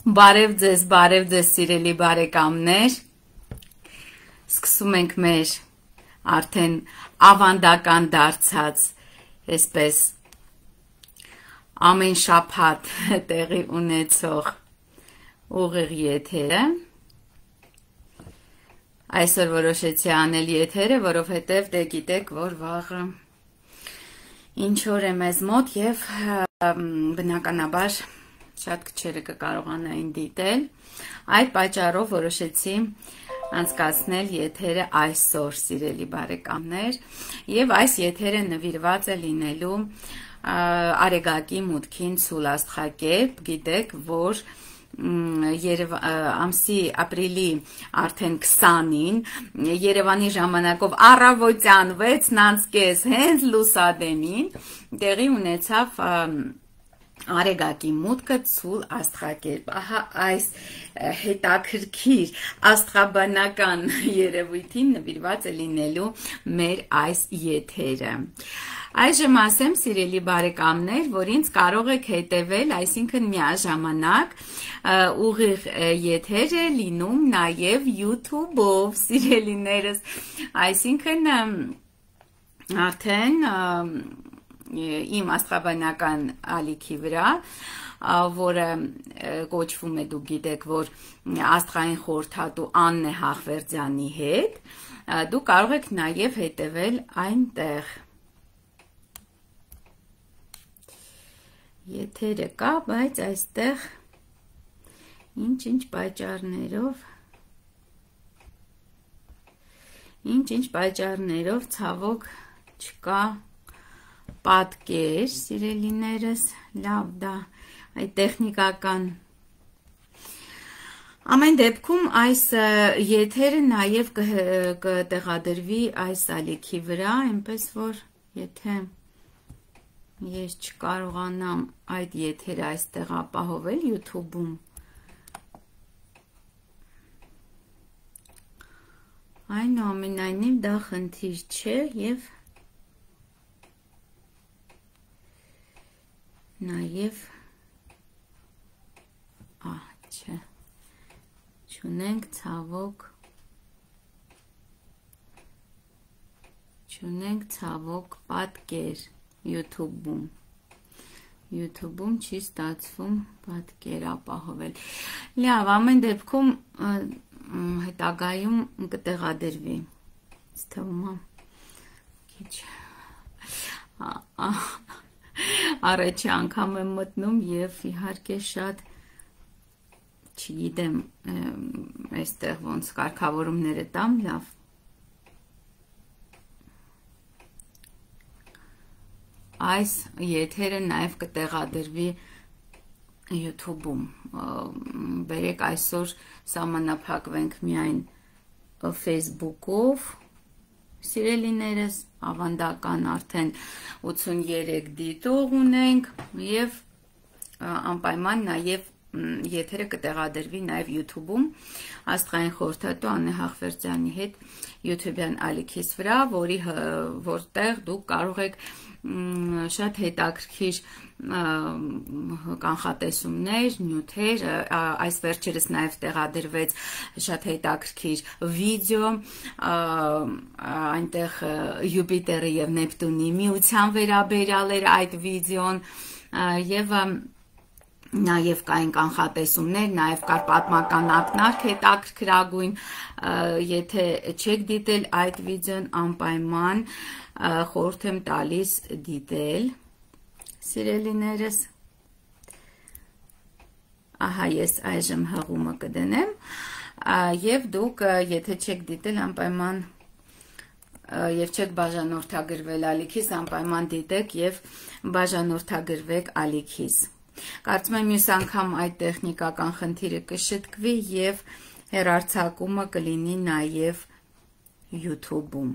Բարև ձեզ սիրելի բարեկամներ, սկսում ենք մեր արդեն ավանդական դարձած, այսպես ամեն շաբաթ տեղի ունեցող ուղիղ եթերը, այսօր որոշեցի անել եթերը, որովհետև դե գիտեք, որ վաղը ինչ օր է մեզ մոտ և բնականաբար շատ քչերը կկարողանային դիտել, այդ պատճառով որոշեցի անցկացնել եթերը այսօր, սիրելի բարեկամներ, եւ այս եթերը նվիրված է լինելու Արեգակի մուտքին ցուլ աստղակերպ, գիտեք, որ ամսի ապրիլի արդեն 20-ին Երևանի ժամանակով առավոտյան 6:30 հենց լուսադեմին տեղի ունեցավ Արեգակի մուտքը ցուլ աստղակերպ, ահա այս հետաքրքիր աստղաբանական երևույթին նվիրված է լինելու մեր այս եթերը։ Այժմ ասեմ, սիրելի բարեկամներ, որ ինձ կարող եք հետևել, այսինքն միաժամանակ ուղիղ եթեր է լինում նաև YouTube-ով, սիրելիներս, այսինքն արդեն իմ աստղաբանական ալիքի վրա, որը կոչվում է, դուք գիտեք, որ աստղային խորհրդատու Աննե Հախվերդյանի հետ, դուք կարող եք նաև հետևել այնտեղ։ Եթերը կա, բայց այստեղ ինչ-ինչ պատճառներով ցավոք չկա պատկեր, սիրելիներս, լավ դա, այդ տեխնիկական։ Ամեն դեպքում այս եթերը նաև կտեղադրվի այս ալիքի վրա, այնպես որ եթե ես չկարողանամ այդ եթերը այստեղ ապահովել YouTube-ում, այնուամենայնիվ դա խնդիր չէ և նաև չէ, չունենք ցավոք պատկեր YouTube-ում չի ստացվում պատկեր ապահովել։ Լավ, ամեն դեպքում հետագայում կտեղադրվի։ Թվում է քիչ առաջի անգամ եմ մտնում և իհարկե շատ չգիտեմ այստեղ ոնց կարգավորումները տամ, լավ։ Այս եթերը նաև կտեղադրվի YouTube-ում, բերեք այսօր սահմանափակվենք միայն Facebook-ով, սիրելիներս, ավանդական արդեն 83 դիտող ունենք և անպայման նաև եթերը կտեղադրվի նաև YouTube-ում աստղային խորհրդատու Աննե Հախվերդյանի հետ YouTube-յան ալիքիս վրա, որտեղ դուք կարող եք շատ հետաքրքիր կանխատեսումներ, նյութեր, այս վերջերս նաև տեղադրվեց շատ հետաքրքիր վիդեո, այնտեղ Յուպիտերի և Նեպտունի միության վերաբերյալ էր այդ վիդեոն և նաև կային կանխատեսումներ, նաև կար պատմական ակնարկ հետաքրքրագույն, եթե չեք դիտել այդ վիդեոն, անպայման խորհուրդ եմ տալիս դիտել, սիրելիներս, ահա ես այժմ հղումը կդնեմ, և դուք, եթե չեք դիտել, անպայման և չեք բաժանորդագրվել ալիքիս, անպայման դիտեք և բաժանորդագրվեք ալիքիս։ Կարծում եմ մյուս անգամ այդ տեխնիկական խնդիրը կշտկվի և հեռարձակումը կլինի նաև YouTube-ում։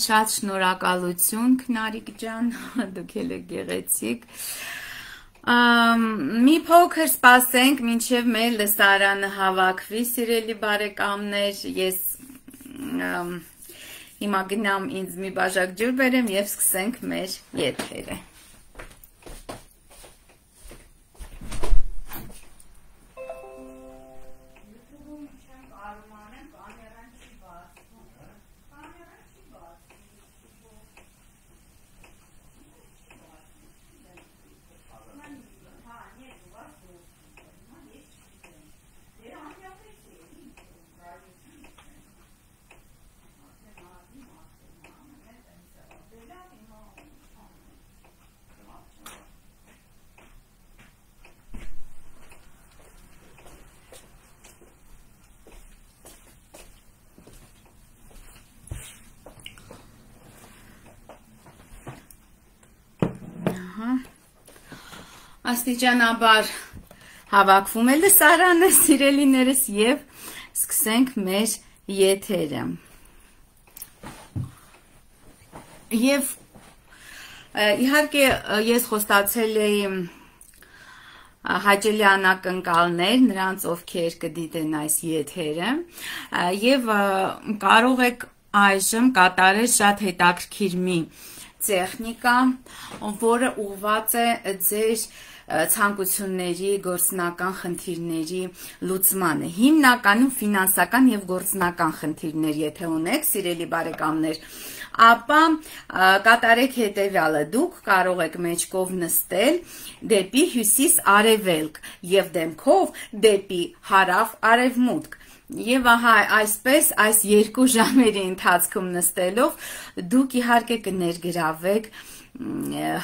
Շատ շնորհակալություն, Քնարիկ ջան, դուք էլ եք գեղեցիկ։ Մի փոքր սպասենք, մինչև մեր լսարանը հավաքվի, սիրելի բարեկամներ, ես հիմա գնամ ինձ մի բաժակ ջուր բերեմ և սկսենք մեր եթերը։ աստիճանաբար հավաքվում է լսարանը, սիրելիներս, եւ սկսենք մեր եթերը։ Եվ իհարկե ես խոստացել էի հաճելի անակնկալներ նրանց, ովքեր կդիտեն այս եթերը, եւ կարող եք այժմ կատարել շատ հետաքրքիր մի տեխնիկա, որը ուղղված է ձեր ցանկությունների, գործնական խնդիրների լուծմանը, հիմնականում ֆինանսական եւ գործնական խնդիրներ, եթե ունեք, սիրելի բարեկամներ, ապա կատարեք հետևյալը, դուք կարող եք մեջքով նստել դեպի հյուսիս-արևելք եւ դեմքով դեպի հարավ-արևմուտք։ Եվ ահա այսպես այս 2 ժամերի ընթացքում նստելով դուք իհարկե կներգրավեք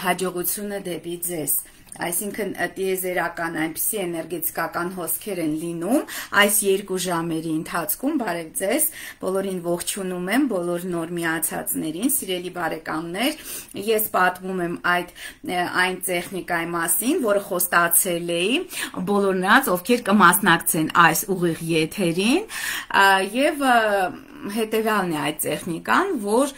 հաջողությունը դեպի ձեզ։ Այսինքն տիեզերական այնպիսի էներգետիկական հոսքեր են լինում այս 2 ժամերի ընթացքում, բարև ձեզ, բոլորին ողջունում եմ, բոլոր նոր միացածներին, սիրելի բարեկամներ, ես պատմում եմ այն տեխնիկայի մասին, որը խոստացել էի բոլոր նրանց, ովքեր կմասնակցեն այս ուղիղ եթերին, եւ հետևյալն է այդ տեխնիկան, որ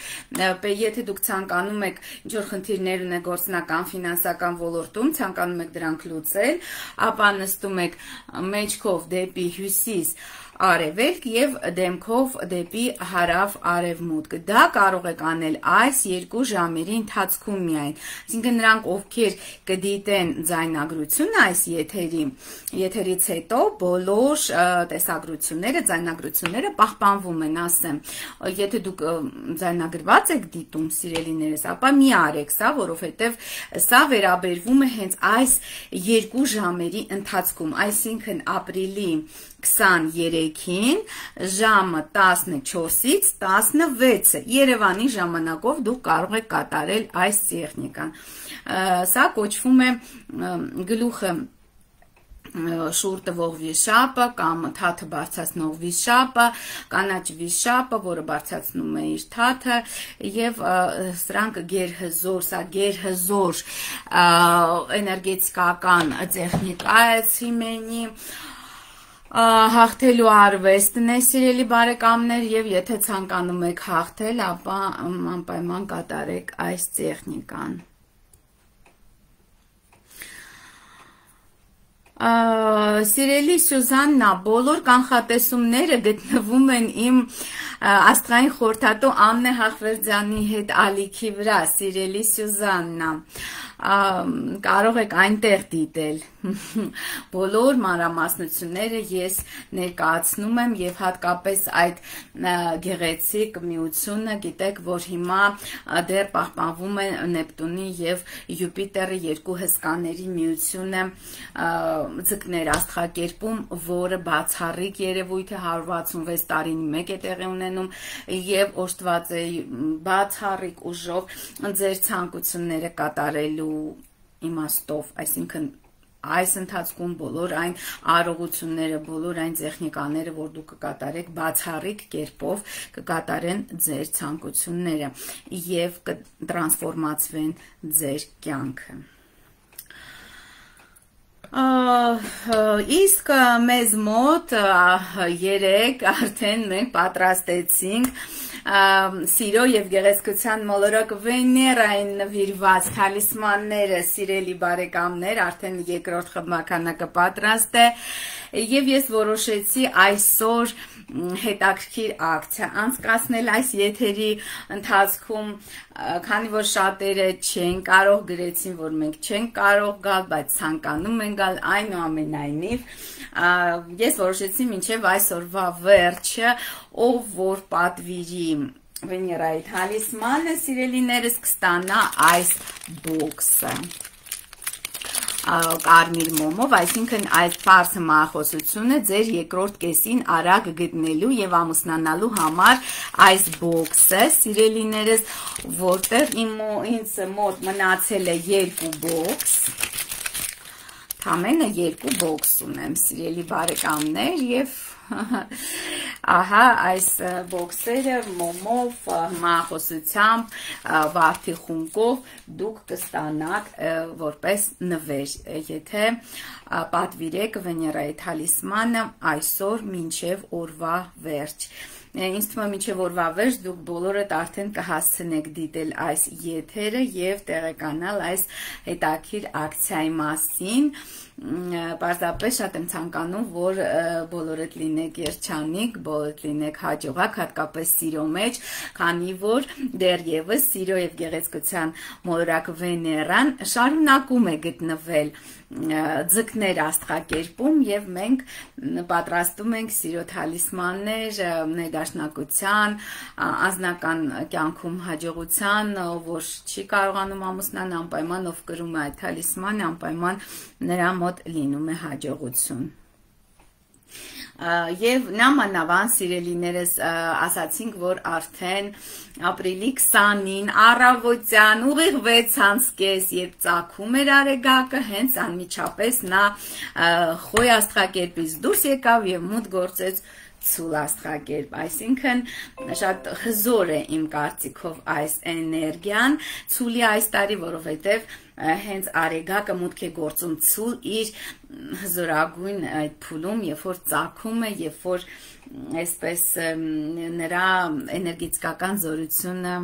եթե դուք ցանկանում եք ինչ-որ խնդիրներ ունեք գործնական, ֆինանսական ոլորտում, ցանկանում եք դրանք լուծել, ապա նստում եք մեջքով դեպի հյուսիս արևելք եւ դեմքով դեպի հարավ-արևմուտք։ Դա կարող եք անել այս 2 ժամերի ընթացքում միայն։ Այսինքն նրանք, ովքեր կդիտեն ձայնագրությունը այս եթերից հետո բոլոր տեսագրությունները, ձայնագրությունները պահպանվում են, ասեմ։ Եթե դուք ձայնագրված եք դիտում, սիրելիներս, ապա մի արեք սա, որովհետեւ սա վերաբերվում է հենց այս 2 ժամերի ընթացքում, այսինքն ապրիլի 23-ին ժամը 14-ից 16-ը Երևանի ժամանակով դուք կարող եք կատարել այս տեխնիկան։ Սա կոչվում է գլուխը շուռ տվող վիշապը կամ թաթը բարձրացնող վիշապը, կանաչ վիշապը, որը բարձրացնում է իր թաթը, եւ սրանք գերհզոր, սա գերհզոր էներգետիկական տեխնիկա է ցիմենի հաղթելու արվեստն է, սիրելի բարեկամներ, եւ եթե ցանկանում եք հաղթել, ապա անպայման կատարեք այս տեխնիկան։ Սիրելի Սյուզաննա, բոլոր կանխատեսումները գտնվում են իմ աստղային խորհրդատու Աննե Հախվերդյանի հետ ալիքի վրա, սիրելի Սյուզաննա, կարող եք այնտեղ դիտել։ Բոլոր մանրամասնությունները ես ներկայացնում եմ եւ հատկապես այդ գեղեցիկ միությունը, գիտեք, որ հիմա դեռ պահպանվում է Նեպտունի եւ Յուպիտերի 2 հսկաների միությունը ձկներ աստղակերպում, որը բացառիկ երևույթ է, 166 տարին մեկ է տեղի ունենում եւ օժտված է բացառիկ ուժով ձեր ցանկությունները կատարելու իմաստով, այսինքն այս ընթացքում բոլոր այն արարողությունները, բոլոր այն տեխնիկաները, որ դուք կկատարեք, բացառիկ կերպով կկատարեն ձեր ցանկությունները եւ կտրանսֆորմացվեն ձեր կյանքը։ Իսկ մեզ մոտ 3 արդեն մենք պատրաստեցինք սիրո եւ գեղեցկության մոլորակ Վեներային նվիրված թալիսմանները, սիրելի բարեկամներ, արդեն 2-րդ խմբականակը պատրաստ է եւ ես որոշեցի այսօր հետաքրքիր ակցիա անցկացնել այս եթերի ընթացքում, քանի որ շատերը չեն կարող, գրեցին, որ մենք չենք կարող գալ, բայց ցանկանում են գալ, այնուամենայնիվ ես որոշեցի մինչև այսօրվա վերջը, ով որ պատվիրի Վեներայի թալիսմանը, սիրելիներս, կստանա այս բոքսը կարմիր մոմով, այսինքն այդ պարզ մախոսությունը ձեր երկրորդ կեսին արագ գտնելու եւ ամուսնանալու համար այս բոքսը, սիրելիներս, որտեղ ինձ մոտ մնացել է 2 բոքս, Ամենը 2 բոքս ունեմ, սիրելի բարեկամներ, եւ Ահա այս բոքսերը մոմով, մախոսությամբ, վարդի խունկով դուք կստանաք որպես նվեր, եթե պատվիրեք Վեներայի թալիսմանը այսօր մինչև օրվա վերջ։ Ինձ թվում է մինչև օրվա վերջ դուք բոլորդ արդեն կհասցնեք դիտել այս եթերը եւ տեղեկանալ այս հետաքրքիր ակցիայի մասին։ Պարզապես շատ եմ ցանկանում, որ բոլորդ լինեք երջանիկ, բոլորդ լինեք հաջողակ, հատկապես սիրո մեջ, քանի որ դեռևս սիրո եւ գեղեցկության մոլորակ Վեներան շարունակում է գտնվել ձկներ աստղակերպում եւ մենք պատրաստում ենք սիրո թալիսմաններ ներդաշնակության, անձնական կյանքում հաջողության, որ չի կարողանում ամուսնան անպայման ով կրում է այդ թալիսմանը, անպայման նրա մոտ լինում է հաջողություն։ Եվ նամանավան սիրելիներս ասացինք, որ արդեն ապրիլի 20-ին առավոտյան ուղիղ 6:30 երբ ծագում էր Արեգակը, հենց անմիջապես նա խոյ աստղակերպից դուրս եկավ եւ մուտք գործեց ցուլ աստղակերպ, այսինքն շատ հզոր է իմ կարծիքով այս էներգիան ցուլի այս տարի, որովհետև հենց Արեգակը մուտք է գործում ցուլ իր հզորագույն այդ փուլում, երբ որ ծագում է, երբ որ այսպես նրա էներգետիկական զորությունը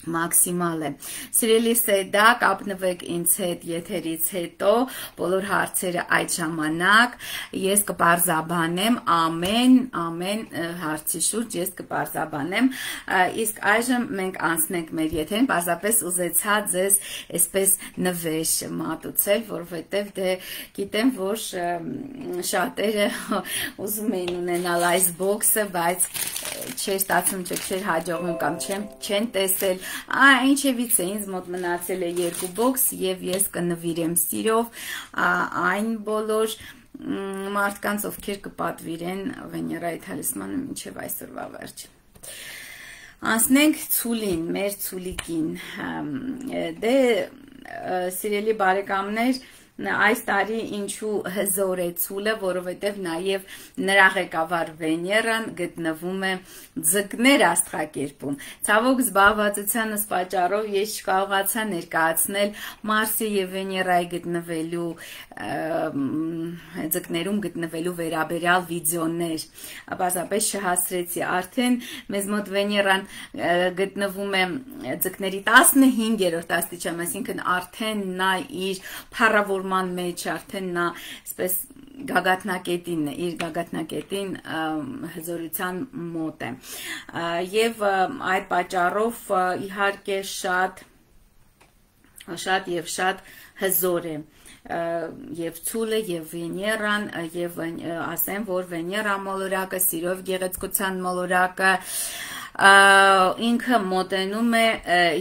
մաքսիմալ է։ Սիրելի Սեդա, կապնվեք ինձ հետ եթերից հետո, բոլոր հարցերը այդ ժամանակ ես կպարզաբանեմ ամեն հարցի շուրջ ես կպարզաբանեմ, իսկ այժմ մենք անցնենք մեր եթերին, պարզապես ուզեցա ձեզ այսպես նվեր մատուցել, որովհետև դե գիտեմ, որ շատերը ուզում էին ունենալ այս բոքսը, բայց չէր ստացվում, չէր հաջողվում կամ չեն տեսել, ինչևից է ինձ մոտ մնացել է 2 բոքս եւ ես կնվիրեմ սիրով այն բոլոր մարդկանց, ովքեր կպատվիրեն Վեներայի թալիսմանը մինչև այսօրվա վերջ։ Անցնենք ցուլին, մեր ցուլիկին։ Դե սիրելի բարեկամներ, այս տարի ինչու հզոր է ցուլը, որովհետև նաև նրա ղեկավար Վեներան գտնվում է ձկներ աստղակերպում։ Ցավոք զբաղվածությանս պատճառով ես չկարողացա ներկայացնել Մարսի եւ Վեներայի գտնվելու ձկներում գտնվելու վերաբերյալ վիդեոներ, պարզապես չհասրեցի, արդեն մեզ մոտ Վեներան գտնվում է ձկների 15-րդ աստիճան, այսինքն արդեն նա իր փառավորման մեջ, արդեն նա այսպես գագաթնակետին, իր գագաթնակետին հզորության մոտ է, եւ այդ պատճառով իհարկե շատ հզոր է եւ ցուլը եւ Վեներան եւ ասեմ, որ Վեներա մոլորակը, սիրով գեղեցկության մոլորակը ինքը մոտենում է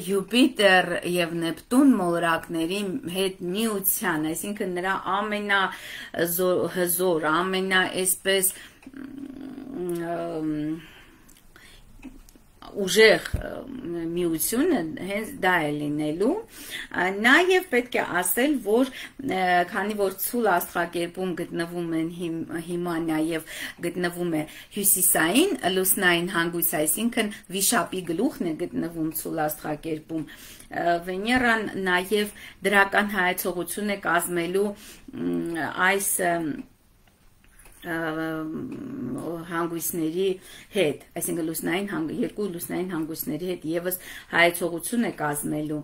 Յուպիտեր եւ Նեպտուն մոլորակների հետ միության, այսինքն նրա ամենահզոր, ամենաայսպես ուժեղ միությունը հենց դա է լինելու, նաև պետք է ասել, որ քանի որ ցուլ աստղակերպում գտնվում են հիմա նաև գտնվում է հյուսիսային լուսնային հանգույց, այսինքն վիշապի գլուխն է գտնվում ցուլ աստղակերպում, Վեներան նաև դրական հայեցողություն է կազմելու այս հանգույցների հետ, այսինքն երկու լուսնային հանգույցների հետ եւս հայեցողություն է կազմելու,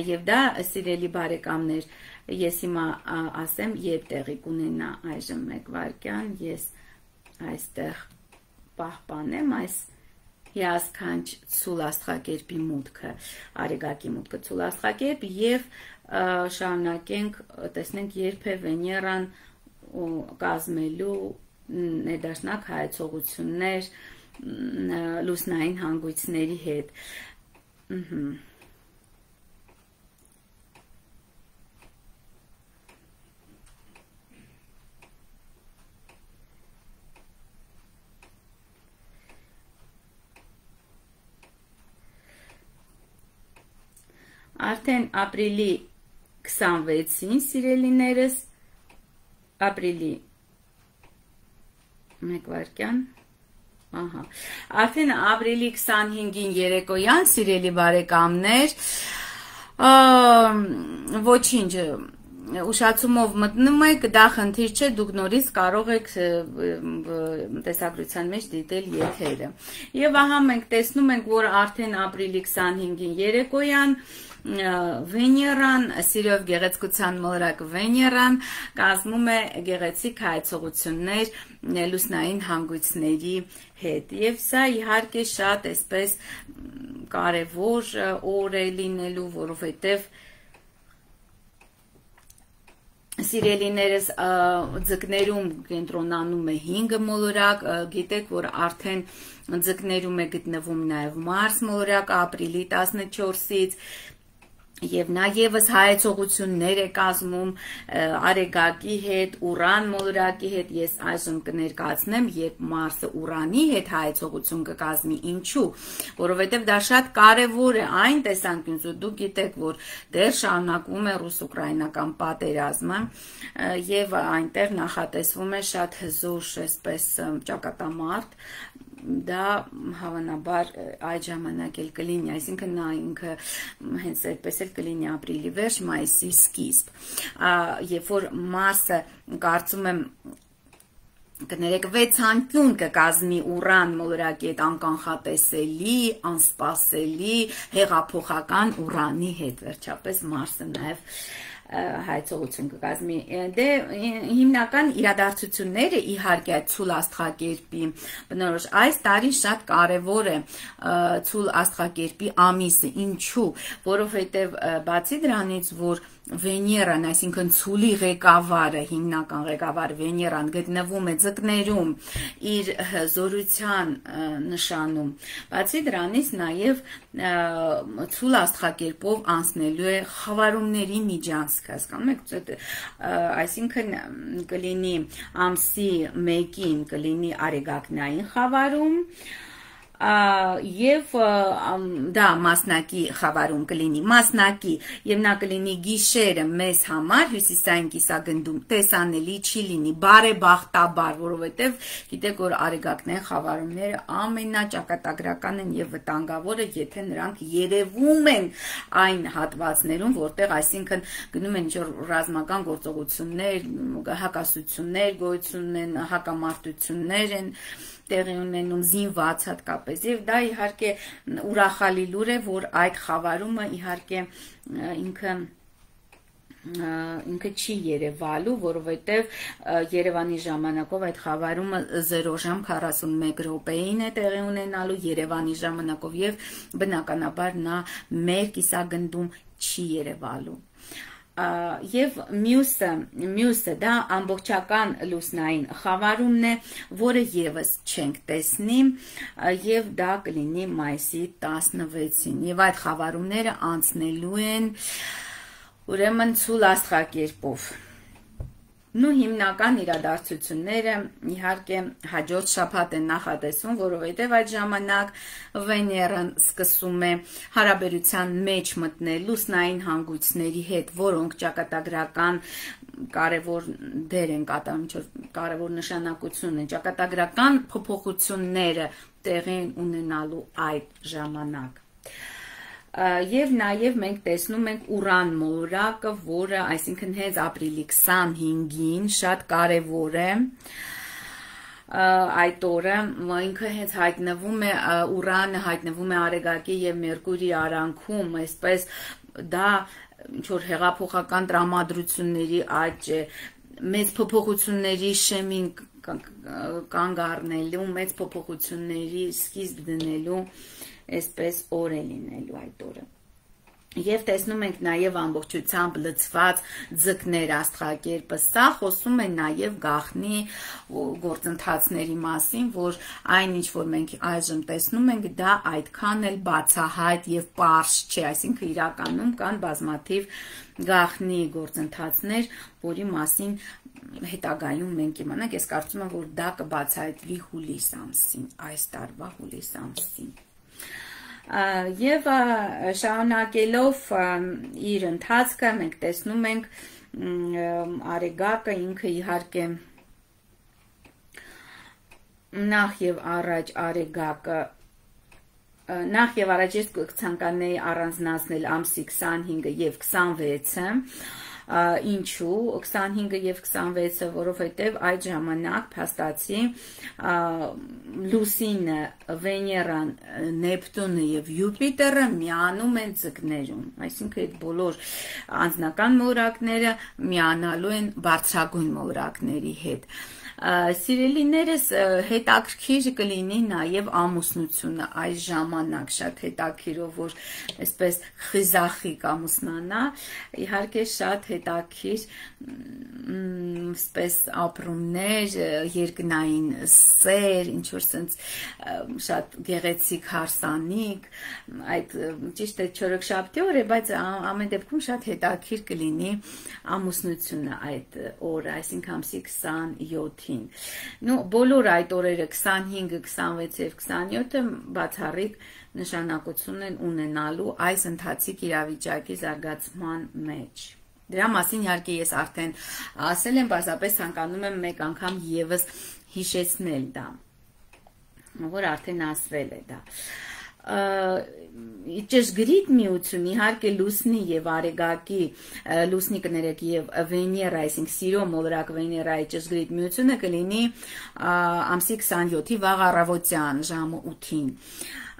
եւ դա սիրելի բարեկամներ, ես հիմա ասեմ, երբ տեղի կունենա, այժմ 1 վայրկյան, ես այստեղ պահպանեմ այս հիասքանչ ցուլ աստղակերպի մուտքը, Արեգակի մուտքը ցուլ աստղակերպ եւ շարունակենք, տեսնենք երբ է Վեներան կազմելու ներդաշնակ հայեցողություններ լուսնային հանգույցների հետ։ Արդեն ապրիլի 26-ին, սիրելիներս, ապրիլի Մեկ վայրկյան։ Ահա։ Արդեն ապրիլի 25-ին երեկոյան, սիրելի բարեկամներ, ոչինչ, ուշացումով մտնում եք, դա խնդիր չէ, դուք նորից կարող եք տեսագրության մեջ դիտել եթերը։ Եվ ահա մենք տեսնում ենք, որ արդեն ապրիլի 25-ին երեկոյան Վեներան, սիրով գեղեցկության մոլորակ Վեներան կազմում է գեղեցիկ հայեցողություններ լուսնային հանգույցների հետ։ Եվ սա իհարկե շատ այսպես կարևոր օր է լինելու, որովհետև սիրելիներս ձկներում կենտրոնանում է 5 մոլորակ, գիտեք, որ արդեն ձկներում է գտնվում նաև Մարս մոլորակ ապրիլի 14-ից, Եվ նաև հայեցողություններ է կազմում Արեգակի հետ, Ուրան մոլորակի հետ, ես այժմ կներկայացնեմ, երբ Մարսը Ուրանի հետ հայեցողություն կկազմի, ինչու, որովհետև դա շատ կարևոր է այն տեսանկյունից, որ դուք գիտեք, որ դեռ շարունակվում է ռուս-ուկրաինական պատերազմը եւ այնտեղ նախատեսվում է շատ հզոր, այսպես ճակատամարտ, դա հավանաբար այդ ժամանակ էլ կլինի, այսինքն նա ինքը հենց այդպես էլ կլինի ապրիլի վերջ, մայիսի սկիզբ, երբ որ Մարսը կարծում եմ կներեք 6 անկյուն կկազմի Ուրան մոլորակի հետ անկանխատեսելի, անսպասելի, հեղափոխական Ուրանի հետ, վերջապես Մարսը նաև հայեցողություն կկազմի։ Դե հիմնական իրադարձությունները իհարկե ցուլ աստղակերպի բնորոշ այս տարի շատ կարևոր է ցուլ աստղակերպի ամիսը, ինչու, որովհետև բացի դրանից, որ Վեներան, այսինքն ցուլի ղեկավարը, հիմնական ղեկավարը Վեներան գտնվում է ձկներում իր զորության նշանում, բացի դրանից նաև ցուլ աստղակերպով անցնելու է խավարումների միջանցք, հասկանում եք, այսինքն կլինի ամսի 1-ին կլինի արեգակնային խավարում, եւ դա մասնակի խավարում կլինի, մասնակի եւ նա կլինի գիշերը մեզ համար հյուսիսային կիսագնդում տեսանելի չի լինի, բարեբախտաբար, որովհետեւ գիտեք, որ արեգակնային խավարումները ամենաճակատագրական են եւ վտանգավորը, եթե նրանք երևում են այն հատվածներում, որտեղ այսինքն գնում են ինչ-որ ռազմական գործողություններ, հակասություններ գոյություն ունեն, հակամարտություններ են տեղի ունենում զինված հատկապես եւ դա իհարկե ուրախալի լուր է, որ այդ խավարումը իհարկե ինքը չի երևալու, որովհետև Երևանի ժամանակով այդ խավարումը 0 ժամ 41 րոպեին է տեղի ունենալու Երևանի ժամանակով եւ բնականաբար նա մեր կիսագնդում չի երևալու։ Եվ մյուսը դա ամբողջական լուսնային խավարումն է, որը եւս չենք տեսնի եւ դա կլինի մայիսի 16-ին եւ այդ խավարումները անցնելու են ուրեմն ցուլ աստղակերպով Նու հիմնական իրադարձությունները իհարկե հաջորդ շաբաթ են նախատեսվում, որովհետև այդ ժամանակ Վեներան սկսում է հարաբերության մեջ մտնել լուսնային հանգույցների հետ, որոնք ճակատագրական կարևոր դեր են կատարում, կարևոր նշանակություն են, ճակատագրական փոփոխությունները տեղի ունենալու այդ ժամանակ։ Եվ նաև մենք տեսնում ենք Ուրան մոլորակը, որը այսինքն հենց ապրիլի 25-ին շատ կարևոր է այդ օրը, ինքը հենց հայտնվում է, Ուրանը հայտնվում է Արեգակի եւ Մերկուրի արանքում, այսպես դա ինչ-որ հեղափոխական տրամադրությունների աճ է, մեծ փոփոխությունների շեմին կանգ առնելու, մեծ փոփոխությունների սկիզբ դնելու այսպես օր է լինելու այդ օրը։ Եվ տեսնում ենք նաև ամբողջությամբ լցված ձկներ աստղակերպը, սա խոսում է նաև գաղտնի գործընթացների մասին, որ այն ինչ որ մենք այժմ տեսնում ենք, դա այդքան էլ բացահայտ եւ պարզ չէ, այսինքն իրականում կան բազմաթիվ գաղտնի գործընթացներ, որի մասին հետագայում մենք իմանանք, ես կարծում եմ, որ դա կբացահայտվի հուլիս ամսին, այս տարվա հուլիս ամսին։ Եվ շարունակելով իր ընթացքը մենք տեսնում ենք Արեգակը ինքը իհարկե նախ եւ առաջ Արեգակը նախ եւ առաջ ես կցանկանայի առանձնացնել ամսի 25-ը եւ 26-ը ինչու 25-ը եւ 26-ը, որովհետեւ այդ ժամանակ փաստացի Լուսինը, Վեներան, Նեպտունը եւ Յուպիտերը միանում են ձկներում, այսինքն այդ բոլոր անձնական մոլորակները միանալու են բարձրագույն մոլորակների հետ։ Սիրելիներս հետաքրքիր կլինի նաև ամուսնությունը այս ժամանակ շատ հետաքրքիրով որ այսպես խիզախիկ ամուսնանա իհարկե շատ հետաքրքիր այսպես ապրումներ երկնային սեր ինչ որ sense շատ գեղեցիկ հարսանիք այդ ճիշտ է չորեքշաբթի օր է բայց ամեն դեպքում շատ հետաքրքիր կլինի ամուսնությունը այդ օրը այսինքն ամսի 27 Ну, բոլոր այդ օրերը 25, 26 եւ 27-ը բացառիկ նշանակություն են ունենալու այս ընթացիկ իրավիճակի զարգացման մեջ։ Դրա մասին իհարկե ես արդեն ասել եմ, պարզապես ցանկանում եմ մեկ անգամ եւս հիշեցնել դա, որ արդեն ասվել է դա։ Ճշգրիտ միություն իհարկե Լուսնի եւ Արեգակի Լուսնի կներեք եւ Վեներա, այսինքն սիրո մոլորակ Վեներայի ճշգրիտ միությունը կլինի ամսի 27-ի վաղ առավոտյան ժամը 8-ին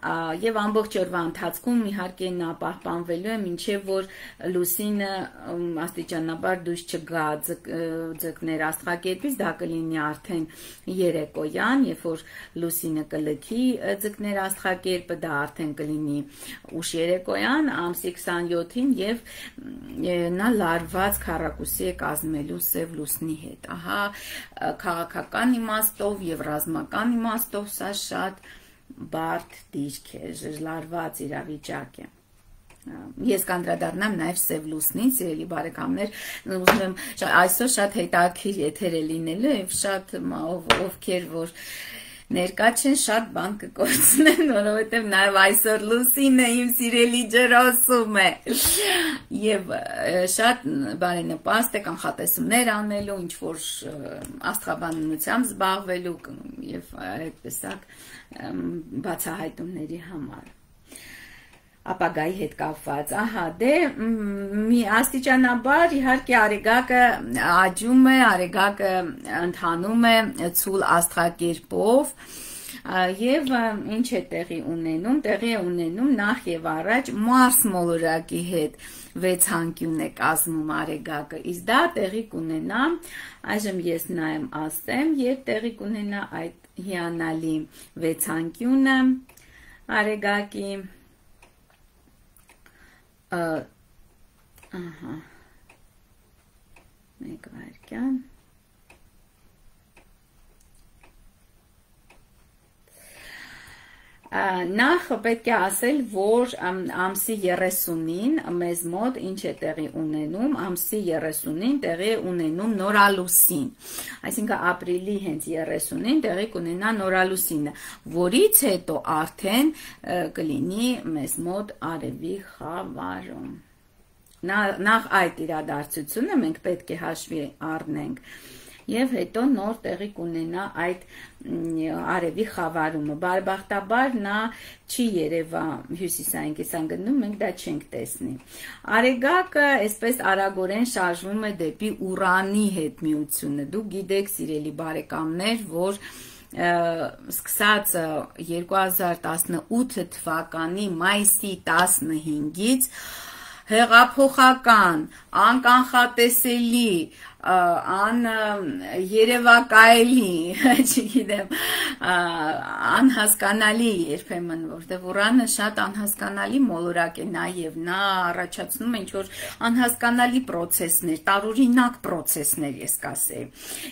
եւ ամբողջ օրվա ընթացքում իհարկե նա պահպանվելու է մինչեւ որ Լուսինը աստիճանաբար դուրս չգա ձկներ աստղակերպից դա կլինի արդեն երեկոյան երբ որ Լուսինը կլքի ձկներ աստղակերպը դա արդեն կլինի ուշ երեկոյան ամսի 27-ին եւ նա լարված քառակուսի է կազմելու Սև Լուսնի հետ ահա քաղաքական իմաստով եւ ռազմական իմաստով սա շատ բարդ դիրք է, լարված իրավիճակ է։ Ես կանդրադառնամ նաև Սև Լուսնին, սիրելի բարեկամներ, ուզում եմ այսօր շատ հետաքրքիր եթեր է լինելու եւ շատ ովքեր որ ներկա չեն շատ բան կկորցնեն, որովհետեւ նաև այսօր Լուսինը իմ սիրելի ջրոսում է եւ շատ բարենպաստ է կանխատեսումներ անելու, ինչ որ աստղաբանությամբ զբաղվելու եւ այդպեսակ բացահայտումների համար ապագայի հետ կապված ահա դե մի աստիճանաբար իհարկե Արեգակը աճում է Արեգակը ընթանում է ցուլ աստղակերպով եւ ինչ է տեղի ունենում նախ եւ առաջ Մարս մոլորակի հետ 6 անկյուն է կազմում Արեգակը իսկ դա տեղի կունենա այժմ ես նայեմ ասեմ եւ տեղի կունենա այդ հիանալի 6 անկյունը Արեգակի ահա մեկ վայրկյան նախ պետք է ասել, որ ամսի 30-ին մեզ մոտ ինչ է տեղի ունենում, ամսի 30-ին տեղի ունենում նորալուսին, այսինքն ապրիլի հենց 30-ին տեղի կունենա նորալուսինը, որից հետո արդեն կլինի մեզ մոտ արևի խավարում։ Նախ այդ իրադարձությունը մենք պետք է հաշվի առնենք եւ հետո նոր տեղի կունենա այդ արևի խավարումը բարեբախտաբար նա չի երևա հյուսիսային կիսանգնում մենք դա չենք տեսնի Արեգակը այսպես արագորեն շարժվում է դեպի Ուրանի հետ միությունը դուք գիտեք սիրելի բարեկամներ որ սկսած 2018 թվականի մայիսի 15-ից հեղափոխական անկանխատեսելի երևակայելի, չգիտեմ, անհասկանալի երբեմն, որտեղ Ուրանը շատ անհասկանալի մոլորակ է նաև նա առաջացնում է ինչ-որ անհասկանալի պրոցեսներ, տարօրինակ պրոցեսներ ես կասեի։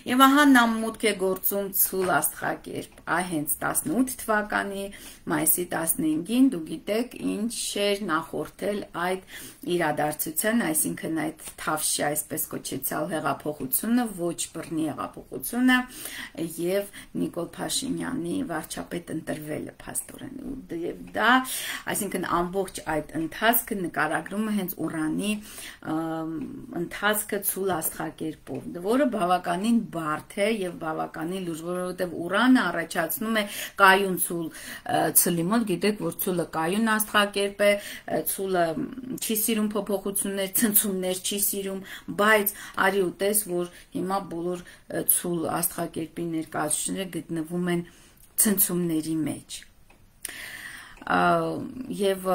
Եվ ահա նա մուտք է գործում ցուլ աստղակերպ, հենց 18 թվականի մայիսի 15-ին դու գիտեք ինչ էր նախորդել այդ իրադարձության, այսինքն այդ այդ Թավշյա այսպես կոչեցյալ հեղափոխությունը, ոչ բռնի հեղափոխությունը եւ Նիկոլ Փաշինյանի վարչապետ ընտրվելը փաստորեն եւ դա, այսինքն ամբողջ այդ ընթացքը նկարագրում է հենց Ուրանի ընթացքը ցուլ աստղակերպով, որը բավականին բարդ է եւ բավականին լուրջ, որովհետեւ Ուրանը առաջացնում է կայուն ցուլ ցլի մոտ, գիտեք, որ ցուլը կայուն աստղակերպ է, ցուլը չի սիրում փոփոխություններ, ցնցումներ չի սիրում, բայց արի ու տես, որ հիմա բոլոր ցուլ աստղակերպի ներկայացուցիչները գտնվում են ցնցումների մեջ։ Եվ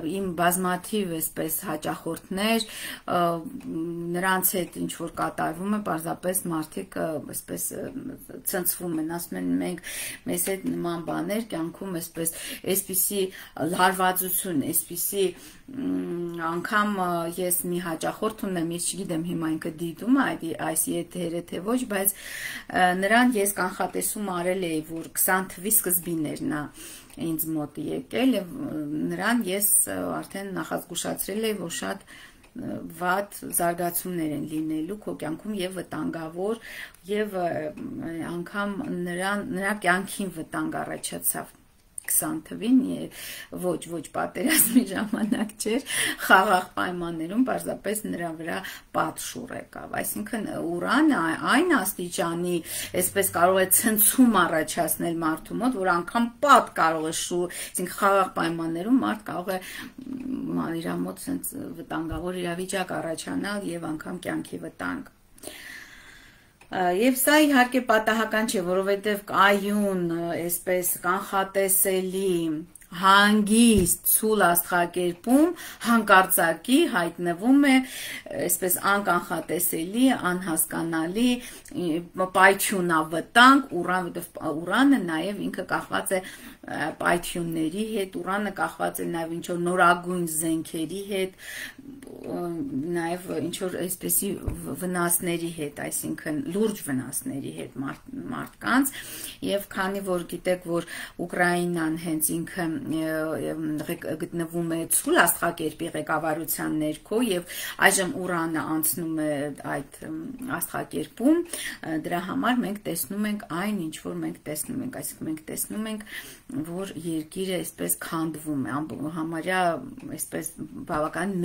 իմ բազմաթիվ այսպես հաճախորդներ նրանց հետ ինչ որ կատարվում է, պարզապես մարդիկ այսպես ցնցվում են, ասում են մենք մեզ հետ նման բաներ կյանքում այսպիսի լարվածություն, այսպիսի անգամ ես մի հաճախորդ ունեմ, ես չգիտեմ հիմա ինքը դիտում է այս եթերը թե ոչ, բայց նրան ես կանխատեսում արել էի, որ 20 թվի սկզբին էր նա ինձ մոտ եկել եւ նրան ես արդեն նախազգուշացրել էի, որ շատ վատ զարգացումներ են լինելու քո կյանքում եւ վտանգավոր եւ անգամ նրա կյանքին վտանգ առաջացավ 20 թվին, ոչ պատերազմի ժամանակ չէր, խաղաղ պայմաններում պարզապես նրա վրա պատշուռ եկավ, այսինքն Ուրանը այն աստիճանի այսպես կարող է ցնցում առաջացնել մարդու մոտ, որ անգամ պատ կարող է այսինքն խաղաղ պայմաններում մարդ կարող է իր մոտ վտանգավոր իրավիճակ առաջանալ եւ անգամ կյանքի վտանգ։ Եվ սա իհարկե պատահական չէ, որովհետև կայուն, այսպես կանխատեսելի, հանգիստ ցուլ աստղակերպում հանկարծակի հայտնվում է այսպես անկանխատեսելի, անհասկանալի պայթյունավտանգ Ուրանը նաև ինքը կախված է պայթյունների հետ, Ուրանը կախված է նաև ինչ-որ նորագույն զենքերի հետ, նաև ինչ-որ այսպեսի վնասների հետ, այսինքն լուրջ վնասների հետ մարդկանց, եւ քանի որ գիտեք, որ Ուկրաինան հենց ինքը գտնվում է ցուլ աստղակերպի ղեկավարության ներքո եւ այժմ Ուրանը անցնում է այդ աստղակերպում, դրա համար մենք տեսնում ենք այն, ինչ որ մենք տեսնում ենք, այսինքն մենք տեսնում ենք, որ երկիրը այսպես քանդվում է, համարյա այսպես բավական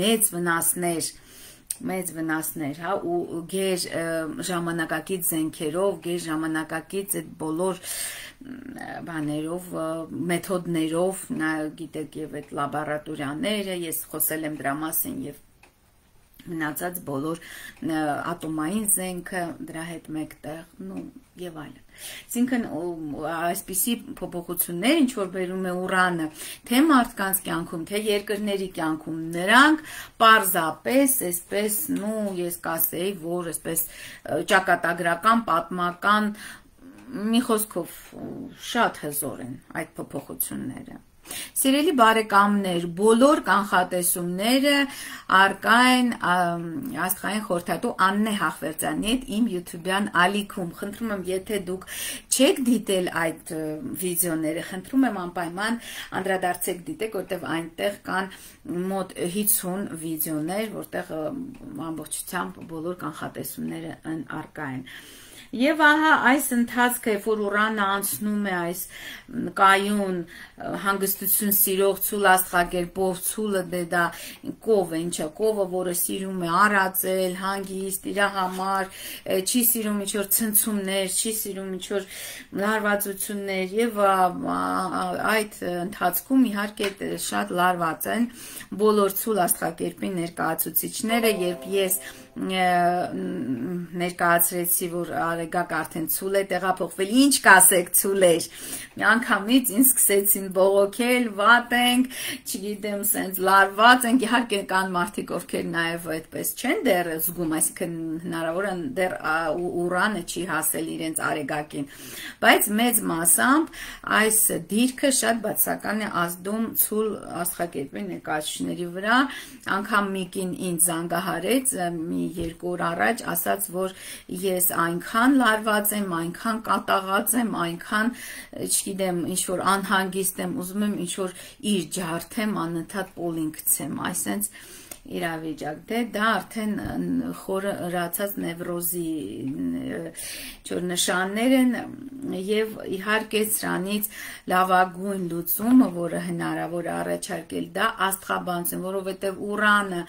մեծ վնասներ, հա, ու գեր ժամանակակից զենքերով, գեր ժամանակակից այդ բոլոր բաներով, մեթոդներով, նա գիտեք եւ այդ լաբորատորիաները, ես խոսել եմ դրա մասին եւ մնացած բոլոր ատոմային զենքը դրա հետ մեկտեղ, եւ այլն։ Այսինքն այսպիսի փոփոխություններ, ինչ որ բերում է Ուրանը, թե մարդկանց կյանքում, թե երկրների կյանքում, նրանք պարզապես այսպես, ես կասեի, որ այսպես ճակատագրական, պատմական, մի խոսքով շատ հզոր են այդ փոփոխությունները։ Սիրելի բարեկամներ, բոլոր կանխատեսումները առկա են աստղային խորհրդատու Աննե Հախվերդյանի հետ իմ YouTube-յան ալիքում։ Խնդրում եմ, եթե դուք չեք դիտել այդ վիդեոները, խնդրում եմ անպայման անդրադարձեք դիտեք, որտեղ այնտեղ կան մոտ 50 վիդեոներ, որտեղ ամբողջությամբ բոլոր կանխատեսումները առկա են։ Եվ ահա այս ընթացքը, որ Ուրանը անցնում է այս կայուն հանգստություն սիրող ցուլ աստղակերպով, ցուլը դա կով է, ինչա կովը, որը սիրում է արածել, հանգիստ, իր համար, չի սիրում ինչ-որ ցնցումներ, չի սիրում ինչ-որ լարվածություններ եւ այդ ընթացքում իհարկե շատ լարված են բոլոր ցուլ աստղակերպի ներկայացուցիչները, երբ ես ներկայացրեցի, որ Արեգակ արդեն ցուլ է տեղափոխվել, ինչ կասեք ցուլեր, միանգամից ինձ սկսեցին բողոքել, վատ ենք, չգիտեմ, սենց լարված ենք, իհարկե կան մարդիկ, ովքեր նաև այդպես չեն դեռ զգում, այսինքն հնարավոր է դեռ Ուրանը չի հասել իրենց Արեգակին, բայց մեծ մասամբ այս դիրքը շատ բացական է ազդում ցուլ աստղակերպի ներկայացուցիչների վրա, անգամ միկին ինձ զանգահարեց մի 2 օր առաջ, ասաց, որ ես այնքան լարված եմ, այնքան կատաղած եմ, այնքան, չգիտեմ, ինչ-որ անհանգիստ եմ, ուզում եմ ինչ-որ իր ջարդեմ, անընդհատ պոլին գցեմ, այսենց իրավիճակ, դա արդեն խորը հրացած նևրոզի նշաններ են եւ իհարկե սրանից լավագույն լուծումը, որը հնարավոր է առաջարկել, դա աստղաբանություն, որովհետեւ Ուրանը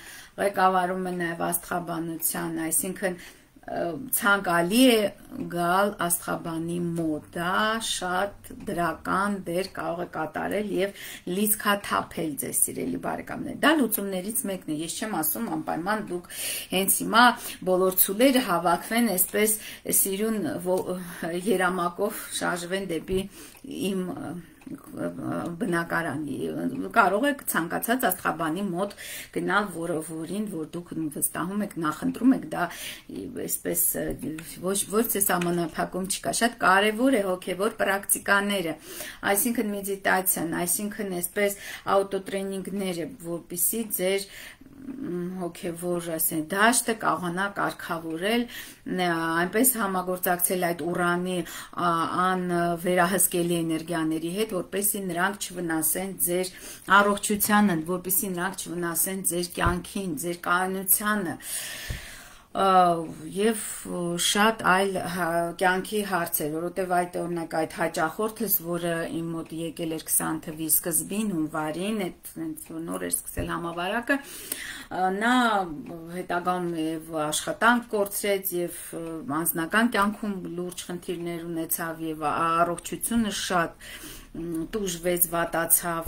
ղեկավարում է նաեւ աստղաբանության, այսինքն ցանկալի է գալ աստղաբանի մոտ, դա շատ դրական դեր կարող է կատարել եւ լիցքաթափել ձեզ սիրելի բարեկամներ, դա լուծումներից մեկն է, ես չեմ ասում անպայման դուք հենց հիմա բոլոր ցուլերը հավաքվեն, այսպես սիրուն երամակով շարժվեն դեպի իմ բնակարանի, կարող եք ցանկացած աստղաբանի մոտ գնալ, որին որ դուք վստահում եք, նախընտրում եք, դա այսպես ոչ թե սահմանափակում չկա, շատ կարևոր է հոգևոր պրակտիկաները, այսինքն մեդիտացիան, այսինքն այսպես աուտոտրեյնինգները, որպեսզի ձեր հոգևոր դաշտը կարողանա կարգավորել, այնպես համագործակցել այդ Ուրանի անվերահսկելի էներգիաների հետ, որպեսզի նրանք չվնասեն ձեր առողջությանը, որպեսզի նրանք չվնասեն ձեր կյանքին, ձեր կայունությանը եւ շատ այլ կյանքի հարցեր, որովհետեւ այդ օրինակ այդ հաճախորդս, որը իմ մոտ եկել էր 20 թվականի սկզբին, հունվարին, այդ նոր էր սկսել համավարակը, նա հետագայում եւ աշխատանք կորցրեց եւ անձնական կյանքում լուրջ խնդիրներ ունեցավ եւ առողջությունը շատ տուժվեց, վատացավ,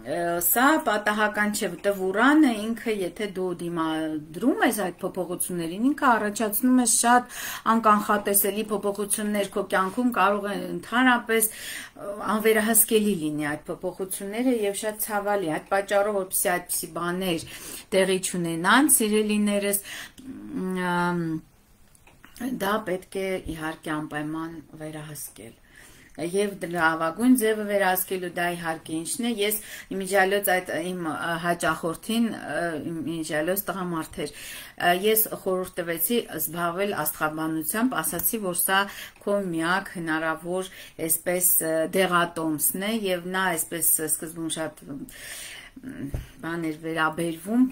սա պատահական չէ, որտեղ Ուրանը ինքը, եթե դու դիմադրում ես այդ փոփոխություններին, ինքը առաջացնում է շատ անկանխատեսելի փոփոխություններ քո կյանքում, կարող է ընդհանրապես անվերահսկելի լինի այդ փոփոխությունները եւ շատ ցավալի, այդ պատճառով որպեսզի այդպիսի բաներ տեղի չունենան, սիրելիներս, դա պետք է իհարկե անպայման վերահսկել եւ լավագույն ձևը վերահսկելու դա իհարկե ինչն է, ես իմիջիալոց այդ իմ հաճախորդին, իմիջիալոց տղամարդ էր, ես խորհուրդ տվեցի զբաղվել աստղաբանությամբ, ասացի, որ սա քո միակ հնարավոր այսպես դեղատոմսն է եւ նա այսպես սկզբում շատ բաներ վերաբերվում,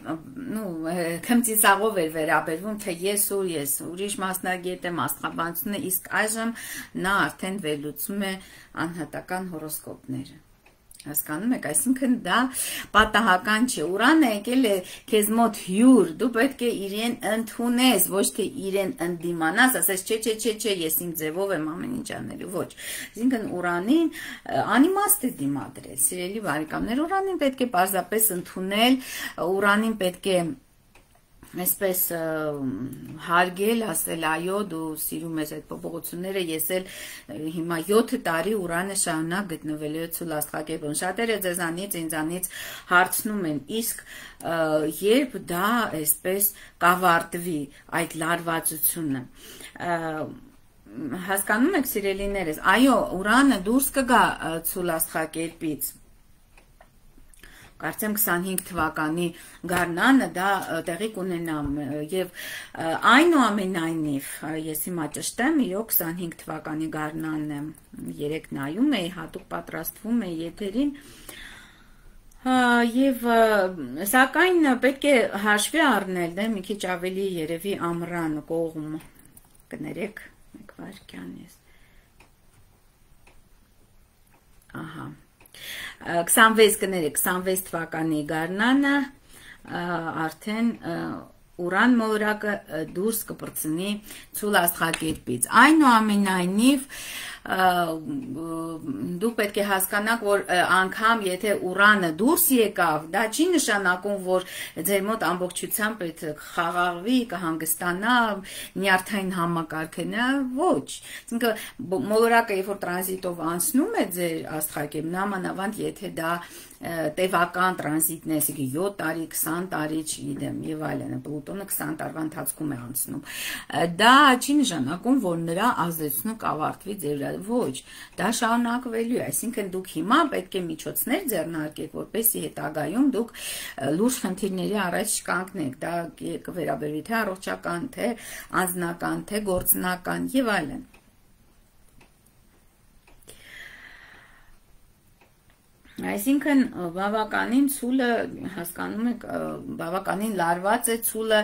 քմծիսաղով էր վերաբերվում, թե ես ուրիշ մասնագետ եմ աստղաբանությունը, իսկ այժմ նա արդեն վերլուծում է անհատական հորոսկոպները, հասկանում եք, այսինքն դա պատահական չէ, Ուրանը եկել է քեզ մոտ հյուր, դու պետք է իրեն ընդունես, ոչ թե իրեն ընդդիմանաս, ասես չէ, ես իմ ձևով եմ ամեն ինչ անելու, ոչ, այսինքն Ուրանին անիմաստ է դիմադրել, սիրելի բարեկամներ, Ուրանին պետք է պարզապես ընդունել, Ուրանին պետք է այսպես հարգել, ասել այո, դու սիրում ես այդ փոփոխությունները, ես էլ հիմա 7 տարի Ուրանը շարունակ գտնվելու է ցուլ աստղակերպում, շատերը ձեզանից ինձանից հարցնում են, իսկ երբ դա այսպես կավարտվի այդ լարվածությունը, հասկանում եք սիրելիներս, այո, Ուրանը դուրս կգա ցուլ աստղակերպից, կարծեմ 25 թվականի գարնանը դա տեղի կունենա եւ այնուամենայնիվ ես հիմա ճշտեմ, իրոք 25 թվականի գարնանը երեք նայում էի, հատուկ պատրաստվում էի եթերին եւ սակայն պետք է հաշվի առնել, դե մի քիչ ավելի երևի ամռան կողմ կներեք, մեկ վայրկյան ես, ահա 26 թվականի գարնանը արդեն Ուրան մոլորակը դուրս կպրծնի ցուլ աստղակերպից, այնուամենայնիվ դուք պետք է հասկանաք, որ անգամ եթե Ուրանը դուրս եկավ, դա չի նշանակում, որ ձեր մոտ ամբողջությամբ այդ խաղաղվի, կհանգստանա, նյարդային համակարգը, ոչ, մոլորակը երբ որ տրանզիտով անցնում է ձեր աստղակերպ, նամանավանդ եթե դա տևական տրանզիտն է, 7 տարի, 20 տարի, չգիտեմ, եւ այլն, Պլուտոնը 20 տարվա ընթացքում է անցնում, դա չի նշանակում, որ նրա ազդեցությունը կավարտվի ձեր ոչ, դա շարունակվելու է, այսինքն դուք հիմա պետք է միջոցներ ձեռնարկեք, որպեսզի հետագայում դուք լուրջ խնդիրների առաջ չկանգնեք, դա կվերաբերվի թե առողջական, թե անձնական, թե գործնական եւ այլն։ Այսինքն բավականին ցուլը հասկանում եք բավականին լարված է ցուլը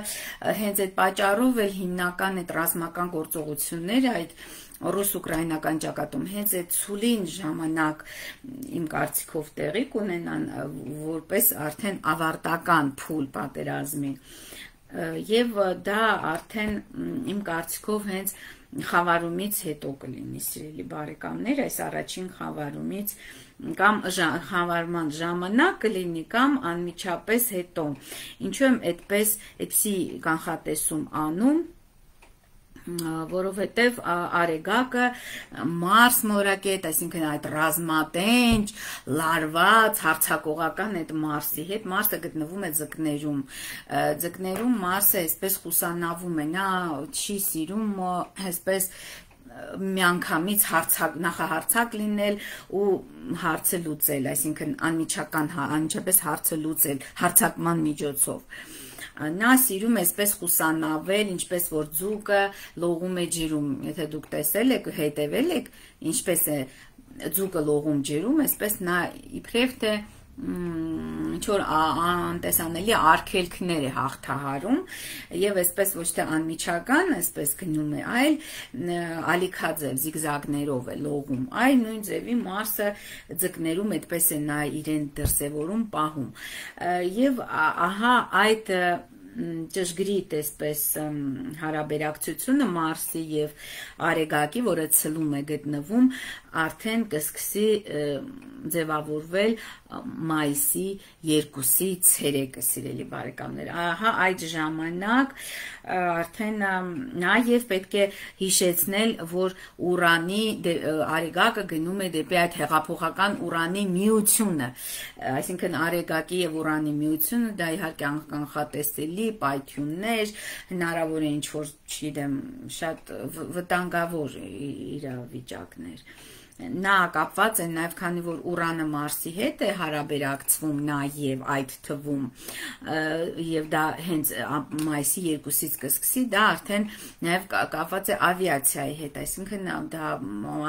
հենց այդ պատճառով էլ հիմնական այդ ռազմական գործողությունները այդ ռուս-ուկրաինական ճակատում հենց այդ ցուլին ժամանակ իմ կարծիքով տեղի կունենան որպես արդեն ավարտական փուլ պատերազմի եւ դա արդեն իմ կարծիքով հենց խավարումից հետո կլինի սիրելի բարեկամներ այս առաջին խավարումից կամ խավարման ժամանակ կլինի կամ անմիջապես հետո ինչու եմ այդպեսի կանխատեսում անում որովհետև Արեգակը Մարս մորակետ, այսինքն այդ ռազմատենչ, լարված, հարցակողական այդ Մարսի հետ, Մարսը գտնվում է ձկներում, ձկներում Մարսը այսպես խուսանավում է, նա չի սիրում այսպես միանգամից նախահարցակ լինել ու հարցը լուծել, այսինքն անմիջապես հարցը լուծել հարցակման միջոցով նա սիրում է այսպես խուսանավել, ինչպես որ ձուկը լողում է ջրում, եթե դուք տեսել եք, հետևել եք, ինչպես է ձուկը լողում ջրում, այսպես նա իբրև թե ինչ-որ անտեսանելի արգելքներ է հաղթահարում եւ այսպես ոչ թե անմիջական, այսպես գնում է, այլ ալիքաձև զիգզագներով է լողում, այլ նույն ձևի Մարսը ձկներում այդպես է նա իրեն դրսևորում, պահում եւ ահա այդ ճշգրիտ այսպես հարաբերակցությունը Մարսի եւ Արեգակի, որը ցլում է գտնվում, արդեն կսկսի ձևավորվել մայիսի 2-ի ցերեկը, սիրելի բարեկամներ։ Ահա այդ ժամանակ արդեն նաեւ պետք է հիշեցնել, որ Ուրանի Արեգակը գնում է դեպի այդ հեղափոխական Ուրանի միությունը, այսինքն Արեգակի եւ Ուրանի միությունը դա իհարկե կանխատեսելի պայթյուններ, հնարավոր է ինչ-որ, չգիտեմ, շատ վտանգավոր իրավիճակներ։ Նա կապված է նաև քանի որ Ուրանը Մարսի հետ է հարաբերակցվում նաև այդ թվում եւ դա հենց մայիսի 2-ից կսկսի դա արդեն նաև կապված է ավիացիայի հետ, այսինքն դա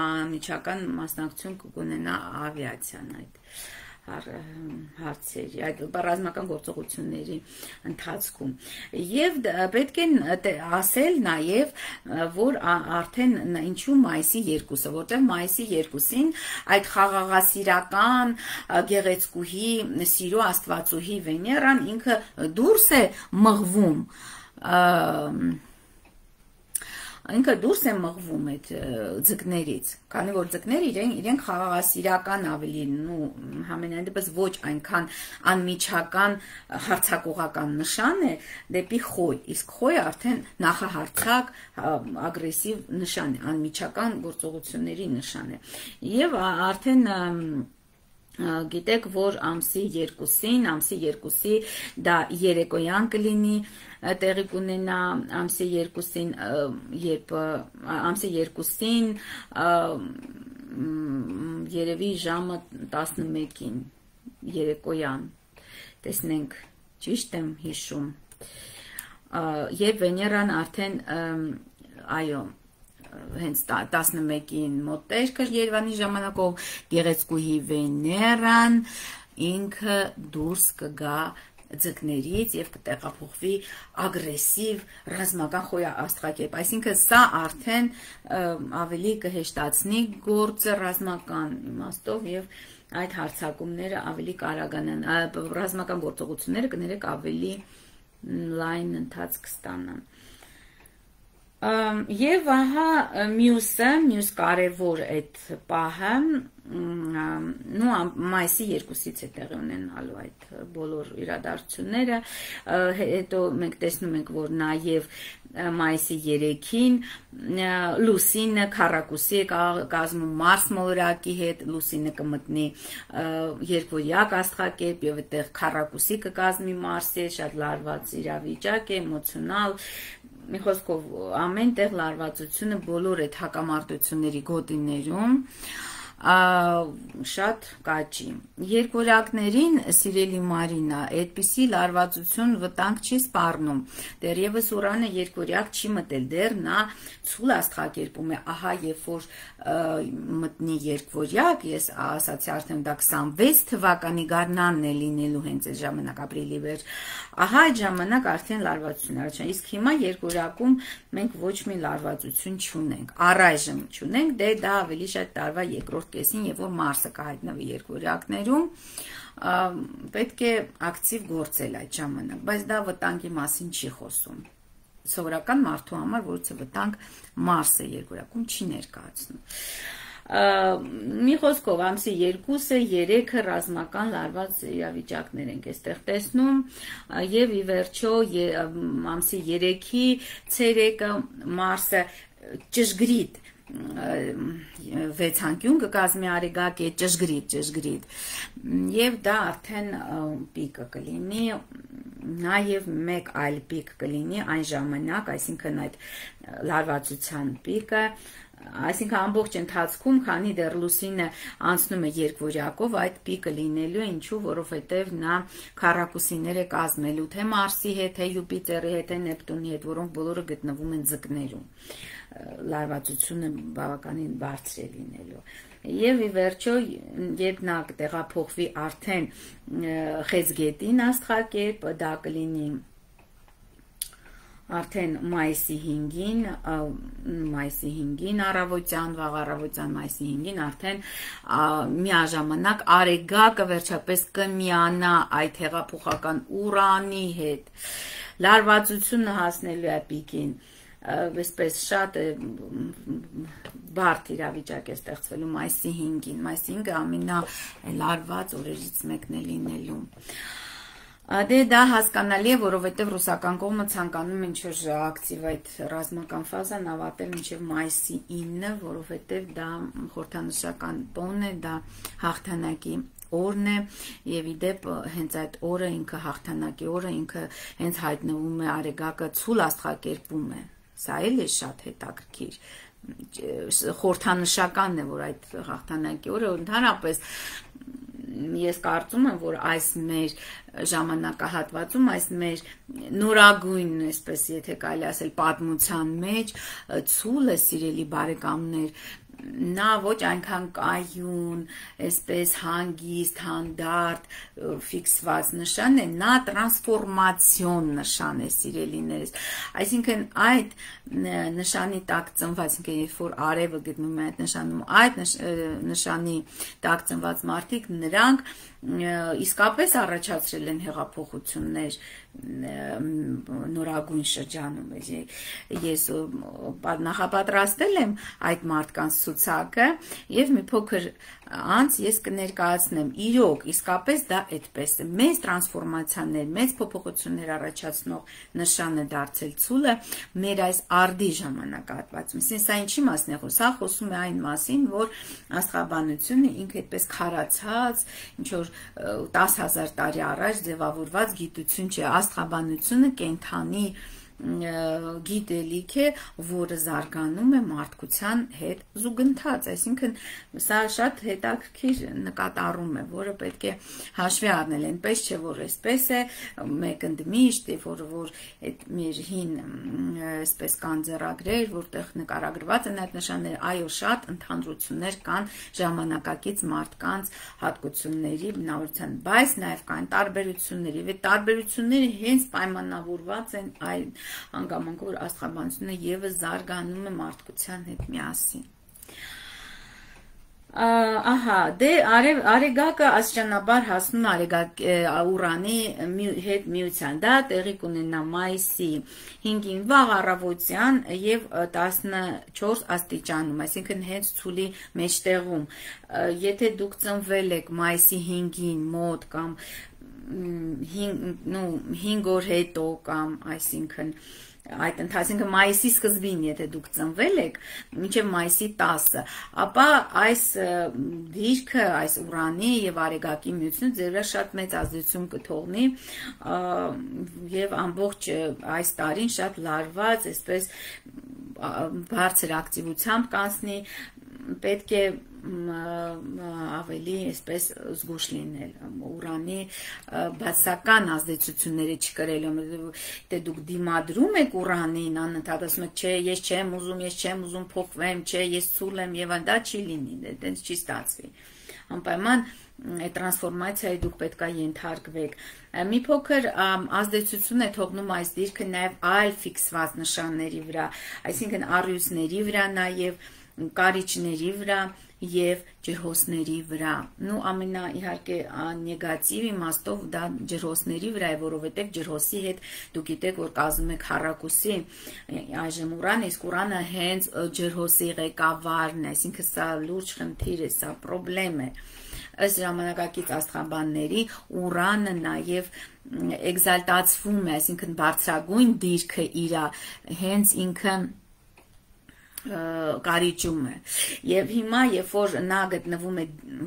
անմիջական մասնակցություն կունենա ավիացիան այդ հարցերի, այդ ռազմական գործողությունների ընթացքում եւ պետք է ասել նաեւ որ արդեն ինչու մայիսի 2-ը, որտեղ մայիսի 2-ին այդ խաղաղասիրական գեղեցկուհի սիրո աստվածուհի Վեներան ինքը դուրս է մղվում ինքը դուրս է մղվում այդ ձկներից, քանի որ ձկները իրենք խաղաղասիրական ավելի, համենայն դեպս ոչ այնքան անմիջական հարցակողական նշան է դեպի խոյ, իսկ խոյը արդեն նախահարցակ ագրեսիվ նշան է, անմիջական գործողությունների նշան է, եւ արդեն գիտեք, որ ամսի 2-ի դա երեկոյան կլինի, տեղի կունենա ամսի 2-ին, երբ ամսի 2-ին երևի ժամը 11-ին երեկոյան, տեսնենք, ճիշտ եմ հիշում, երբ Վեներան արդեն, այո, հենց 11-ին մոտեր կր Երևանի ժամանակով գեղեցկուհի Վեներան ինքը դուրս կգա ձկներից եւ կտեղափոխվի ագրեսիվ ռազմական խոյաստղակերպ, այսինքն սա արդեն ավելի կհեշտացնի գործը ռազմական իմաստով եւ այդ հարցակումները ավելի կարագանան, ռազմական գործողությունները կներեք ավելի լայն ընթացք կստանան։ Եվ ահա մյուս կարևոր այդ պահը մայիսի 2-ից է տեղի ունենալու այդ բոլոր իրադարձությունները, հետո մենք տեսնում ենք, որ նաև մայիսի 3-ին լուսինը քառակուսի է կազմում Մարս մոլորակի հետ, լուսինը կմտնի երկվորյակ աստղակերպ եւ այդտեղ քառակուսի կկազմի Մարսի հետ, շատ լարված իրավիճակ է, էմոցիոնալ, մի խոսքով ամեն տեղ լարվածությունը բոլոր այդ հակամարտությունների գոտիներում շատ կաճի։ Երկորյակներին, սիրելի Մարինա, այդպիսի լարվածություն վտանգ չի սպառնում։ Դեռևս Ուրանը երկորյակ չի մտել, դեռ նա ցուլ աստղակերպում է, ահա երբ որ մտնի երկորյակ, ես ասացի արդեն դա 26 թվականի գարնանն է լինելու հենց այդ ժամանակ ապրիլի վերջ, ահա այդ ժամանակ արդեն լարվածություն առաջան, իսկ հիմա երկորյակում մենք ոչ մի լարվածություն չունենք, առայժմ չունենք, դե դա ավելի շատ տարվա երկրորդ կեսին, երբ որ Մարսը կհայտնվի երկորյակներում, պետք է ակտիվ գործել այդ ժամանակ, բայց դա վտանգի մասին չի խոսում։ Սովորական մարդու համար, որից վտանգ Մարսը երկորյակում չի ներկայացնում։ Մի խոսքով ամսի 2-ը 3-ը ռազմական լարված իրավիճակներ ենք այստեղ տեսնում եւ ի վերջո ամսի 3-ի ցերեկը Մարսը ճշգրիտ 6 անկյուն կկազմի արեգակ է ճշգրիտ եւ դա արդեն պիկը կլինի նաեւ մեկ այլ պիկ կլինի այն ժամանակ, այսինքն այդ լարվածության պիկը, այսինքն ամբողջ ընթացքում, քանի դեռ լուսինը անցնում է երկվորյակով, այդ պիկը լինելու է, ինչու, որովհետև նա քառակուսիներ է կազմելու թե Մարսի հետ, թե Յուպիտերի հետ, թե Նեպտունի հետ, որոնք բոլորը գտնվում են ձկներում։ Լարվածությունը բավականին բարձր է լինելու։ Եվ ի վերջո, երբ նա կտեղափոխվի արդեն Խեցգետին աստղակերպ, դա կլինի արդեն մայիսի 5-ին առավոտյան, վաղ առավոտյան մայիսի 5-ին արդեն միաժամանակ արեգակը վերջապես կմիանա այդ հեղափոխական Ուրանի հետ։ Լարվածությունը հասնելու է պիկին, այսպես շատ բարդ իրավիճակ է ստեղծվելու մայիսի 5-ին, մայիսի 5-ը ամենալարված օրերից մեկն է լինելու։ Դե դա հասկանալի է, որովհետև ռուսական կողմը ցանկանում է ինչ-որ ակտիվ այդ ռազմական ֆազան ավարտել մինչև մայիսի 9-ը, որովհետև դա խորհրդանշական տոն է, դա հաղթանակի օրն է եւ իդեպ հենց այդ օրը ինքը հաղթանակի օրը ինքը հենց հայտնվում է արեգակը ցուլ աստղակերպում է։ Սա էլ է շատ հետաքրքիր։ Խորհրդանշական է, որ այդ հաղթանակի օրը ընդհանրապես ես կարծում եմ, որ այս մեր ժամանակահատվածում, այս մեր նորագույն, այսպես եթե կարելի ասել, պատմության մեջ ցուլը, սիրելի բարեկամներ, նա ոչ այնքան կայուն, այսպես հանգիստ, հանդարտ, ֆիքսված նշան է, նա տրանսֆորմացիոն նշան է, սիրելիներս, այսինքն այդ նշանի տակ ծնված, այսինքն երբ որ արևը գտնում է այդ նշանում, այդ նշանի տակ ծնված մարդիկ, նրանք իսկապես առաջացրել են հեղափոխություններ նորագույն շրջանում, ես նախապատրաստել եմ այդ մարդկանց ցուցակը եւ մի փոքր անց ես կներկայացնեմ, իրոք, իսկապես դա այդպես է, մեծ տրանսֆորմացիաներ, մեծ փոփոխություններ առաջացնող նշան է դարձել ցուլը մեր այս արդի ժամանակահատվածում, սա ինչի մասն է խոսում, սա խոսում է այն մասին, որ աստղաբանությունը ինքը այդպես քարացած, ինչ որ 10,000 տարի առաջ ձևավորված գիտություն չէ, աստղաբանությունը կենդանի գիտելիք է, որը զարգանում է մարդկության հետ զուգընթաց, այսինքն սա շատ հետաքրքիր նկատառում է, որը պետք է հաշվի առնել, այնպես չէ, որ այսպես է, մեկ ընդմիշտ, որ այդ մեր հին այսպես կան ձեռագրեր, որտեղ նկարագրված են այդ նշանները, այո, շատ ընդհանրություններ կան ժամանակակից մարդկանց հատկությունների բնավորության, բայց նաև կան տարբերություններ, եւ այդ տարբերությունները հենց պայմանավորված են այն հանգամանքով, որ աստղաբանությունը եւս զարգանում է մարդկության հետ միասին։ Ահա, դե արեգակը աստիճանաբար հասնում է արեգակ Ուրանի հետ միության, դա տեղի կունենա մայիսի 5-ին վաղ առավոտյան եւ 14 աստիճանում, այսինքն հենց ցուլի մեջտեղում։ Եթե դուք ծնվել եք մայիսի 5-ին մոտ կամ 5 օր հետո կամ այսինքն այդ ընթացքում մայիսի սկզբին, եթե դուք ծնվել եք, մինչև մայիսի 10-ը, ապա այս դիրքը, այս Ուրանի եւ արեգակի միությունը ձեր վրա շատ մեծ ազդեցություն կթողնի եւ ամբողջ այս տարին շատ լարված, այսպես բարձր ակտիվությամբ կանցնի, պետք է ավելի այսպես զգուշ լինել Ուրանի բացական ազդեցությունները չկրելու, դե դուք դիմադրում եք Ուրանին, անընդհատ ասում եք, չէ, ես չեմ ուզում փոխվեմ, չէ, ես ցուլ եմ եւ դա չի լինի, այդպես չի ստացվի։ Անպայման այդ տրանսֆորմացիայի դուք պետք է ենթարկվեք։ Մի փոքր ազդեցություն է թողնում այս դիրքը նաև այլ ֆիքսված նշանների վրա, այսինքն առյուծների վրա, նաև կարիճների վրա եւ ջրհոսների վրա։ Նու ամենա իհարկե նեգատիվ իմաստով դա ջրհոսների վրա է, որովհետեւ ջրհոսի հետ դուք գիտեք, որ կազմում եք Հարակուսի այժմ Ուրանը, իսկ Ուրանը հենց ջրհոսի ղեկավարն է, այսինքն սա լուրջ խնդիր է, սա խնդրեմ է։ Ըստ ժամանակակից աստղաբանների Ուրանը նաև էկզալտացվում է, այսինքն բարձրագույն դիրքը իր հենց ինքը կարիճում է եւ հիմա երբ որ նա գտնվում է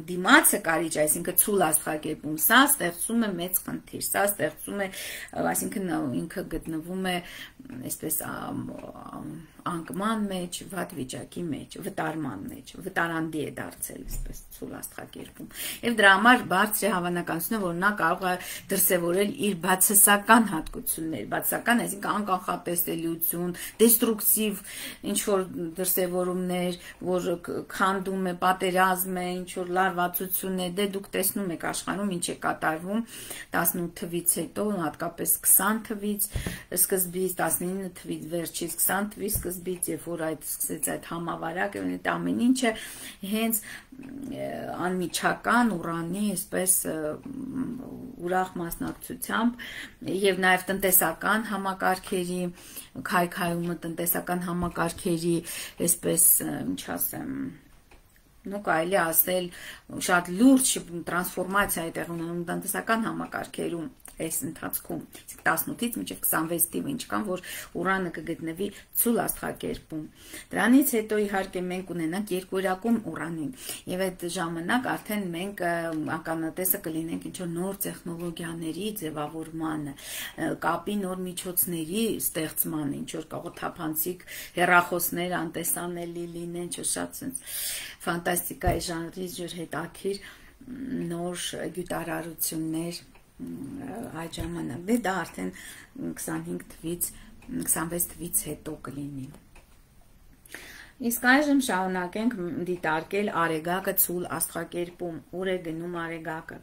դիմացը կարիճ, այսինքն ցուլ աստղակերպում, սա ստեղծում է մեծ խնդիր, սա ստեղծում է, այսինքն ինքը գտնվում է այսպես անկման մեջ, վատ վիճակի մեջ, վտարման մեջ, վտարանդի է դարձել այսպես ցուլ աստղակերպում եւ դրա համար բարձր է հավանականությունը, որ նա կարող է դրսեւորել իր բացասական հատկություններ, բացասական, այսինքն անկանխատեսելիություն, դեստրուկտիվ ինչ որ դրսևորումներ, որ քանդում է, պատերազմ է, ինչ որ լարվածություն է, դե դուք տեսնում եք աշխարհում ինչ է կատարվում 18 թվից հետո, հատկապես 20 թվից սկզբից, 19 թվից վերջից, 20 թվից սկզբից, երբ որ այդ սկսեց այդ համավարակը, այդ ամեն ինչը հենց անմիջական Ուրանի այսպես ուրախ մասնակցությամբ եւ նաեւ տնտեսական համակարգերի քայքայումը, տնտեսական համակարգերի այսպես ինչ ասեմ, նու կարելի ասել շատ լուրջ տրանսֆորմացիա է տեղի ունենում տնտեսական համակարգերում այս ընթացքում 18-ից մինչև 26 թիվը ինչքան որ Ուրանը կգտնվի ցուլ աստղակերպում։ Դրանից հետո իհարկե մենք ունենանք երկուերակում Ուրանին եւ այդ ժամանակ արդեն մենք ականատեսը կլինենք ինչ որ նոր տեխնոլոգիաների ձևավորմանը, կապի նոր միջոցների ստեղծման, ինչ որ կարող թափանցիկ հեռախոսներ անտեսանելի լինեն, շատ sense ֆանտաստիկայի ժանրի ջր հետաքրիր նոր գյուտարարություններ այդ ժամանակ, դե դա արդեն 25 թվից 26 թվից հետո կլինի։ Իսկ այժմ շարունակենք դիտարկել Արեգակը ցուլ աստղակերպում, ուր է գնում Արեգակը։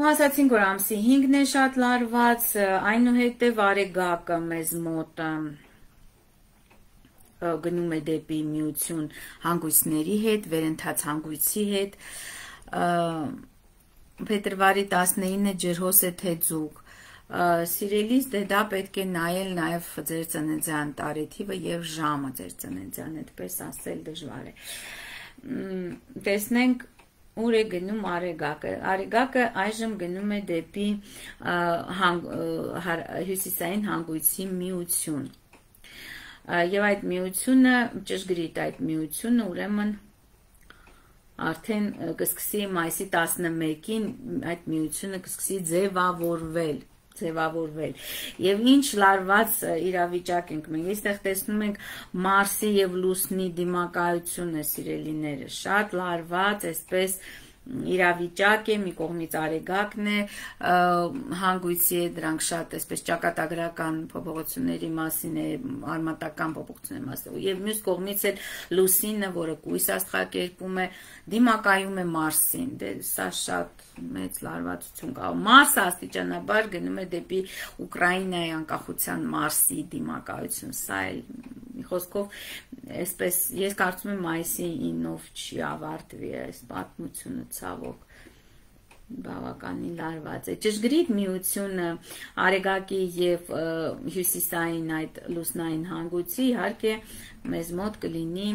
Ու ասացինք, որ ամսի 5-ն է շատ լարված, այնուհետև Արեգակը մեզ մոտ գնում է դեպի միություն հանգույցների հետ, վերընթաց հանգույցի հետ, փետրվարի 19-ը ջրհոս է թեձուկ, սիրելիս դե դա պետք է նայել նաև ձեր ծննդյան տարեթիվը եւ ժամը ձեր ծննդյան, այդպես ասել դժվար է։ Տեսնենք ուր է գնում Արեգակը։ Արեգակը այժմ գնում է դեպի հյուսիսային հանգույցի միություն։ Եվ այդ միությունը, ճշգրիտ այդ միությունը ուրեմն արդեն կսկսի մայիսի 11-ին այդ միությունը կսկսի ձևավորվել եւ ինչ լարված իրավիճակ ենք մենք այստեղ տեսնում ենք Մարսի եւ Լուսնի դիմակայությունը սիրելիները շատ լարված այսպես իրավիճակ է, մի կողմից Արեգակն է, հանգույցի է, դրանք շատ այսպես ճակատագրական փոփոխությունների մասին է, արմատական փոփոխությունների մասին, եւ մյուս կողմից էլ Լուսինը, որը կույս աստղակերպում է, դիմակայում է Մարսին, դե սա շատ մեծ լարվածություն կա։ Մարսը աստիճանաբար գնում է դեպի Ուկրաինայի անկախության Մարսի դիմակայություն, սա էլ մի խոսքով այսպես ես կարծում եմ մայիսի 9-ով չի ավարտվի այս պատմությունը ցավոք բավականին լարված է։ Ճշգրիտ միությունը Արեգակի եւ հյուսիսային այդ լուսնային հանգույցի իհարկե մեզ մոտ կլինի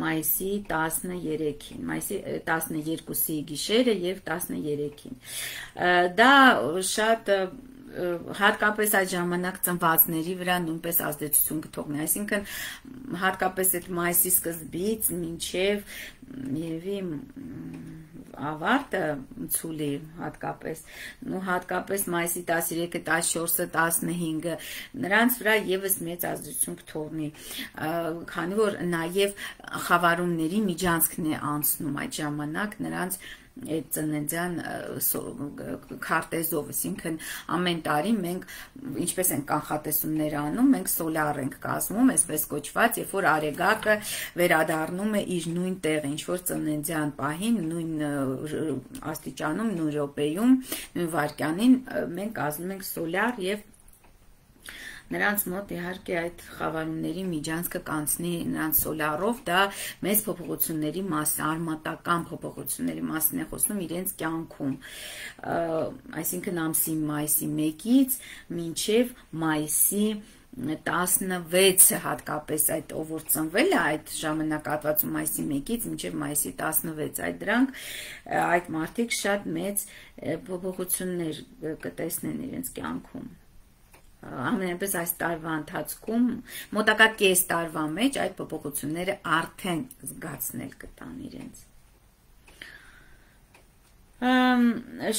մայիսի 13-ին, մայիսի 12-ի գիշերը եւ 13-ին։ Դա շատ հատկապես այդ ժամանակ ծնվածների վրա նույնպես ազդեցություն կթողնի, այսինքն հատկապես այդ մայիսի սկզբից մինչև երևի ավարտը ցուլի հատկապես մայիսի 13-ը, 14-ը, 15-ը նրանց վրա եւս մեծ ազդեցություն կթողնի, քանի որ նաեւ խավարումների միջանցքն է անցնում այդ ժամանակ նրանց այդ ծննդյան քարտեզով, այսինքն ամեն տարի մենք ինչպես ենք կանխատեսումներ անում, մենք սոլար ենք կազմում, այսպես կոչված, երբ որ արեգակը վերադառնում է իր նույն տեղը, ինչ որ ծննդյան պահին, նույն աստիճանում, նույն րոպեում, նույն վայրկյանին մենք կազմում ենք սոլար եւ նրանց մոտ իհարկե այդ խավարումների միջանցքը կանցնի նրանց սոլարով, դա մեծ փոփոխությունների մաս, արմատական փոփոխությունների մասին է խոսում իրենց կյանքում, այսինքն ամսի մայիսի 1-ից մինչև մայիսի 16-ը հատկապես այդ ով որ ծնվել է այդ ժամանակահատվածում մայիսի 1-ից մինչև մայիսի 16, այդ մարդիկ շատ մեծ փոփոխություններ կտեսնեն իրենց կյանքում։ Ամենապես այս տարվա ընթացքում մոտակա կես տարվա մեջ այդ փոփոխությունները արդեն զգացնել կտան իրենց։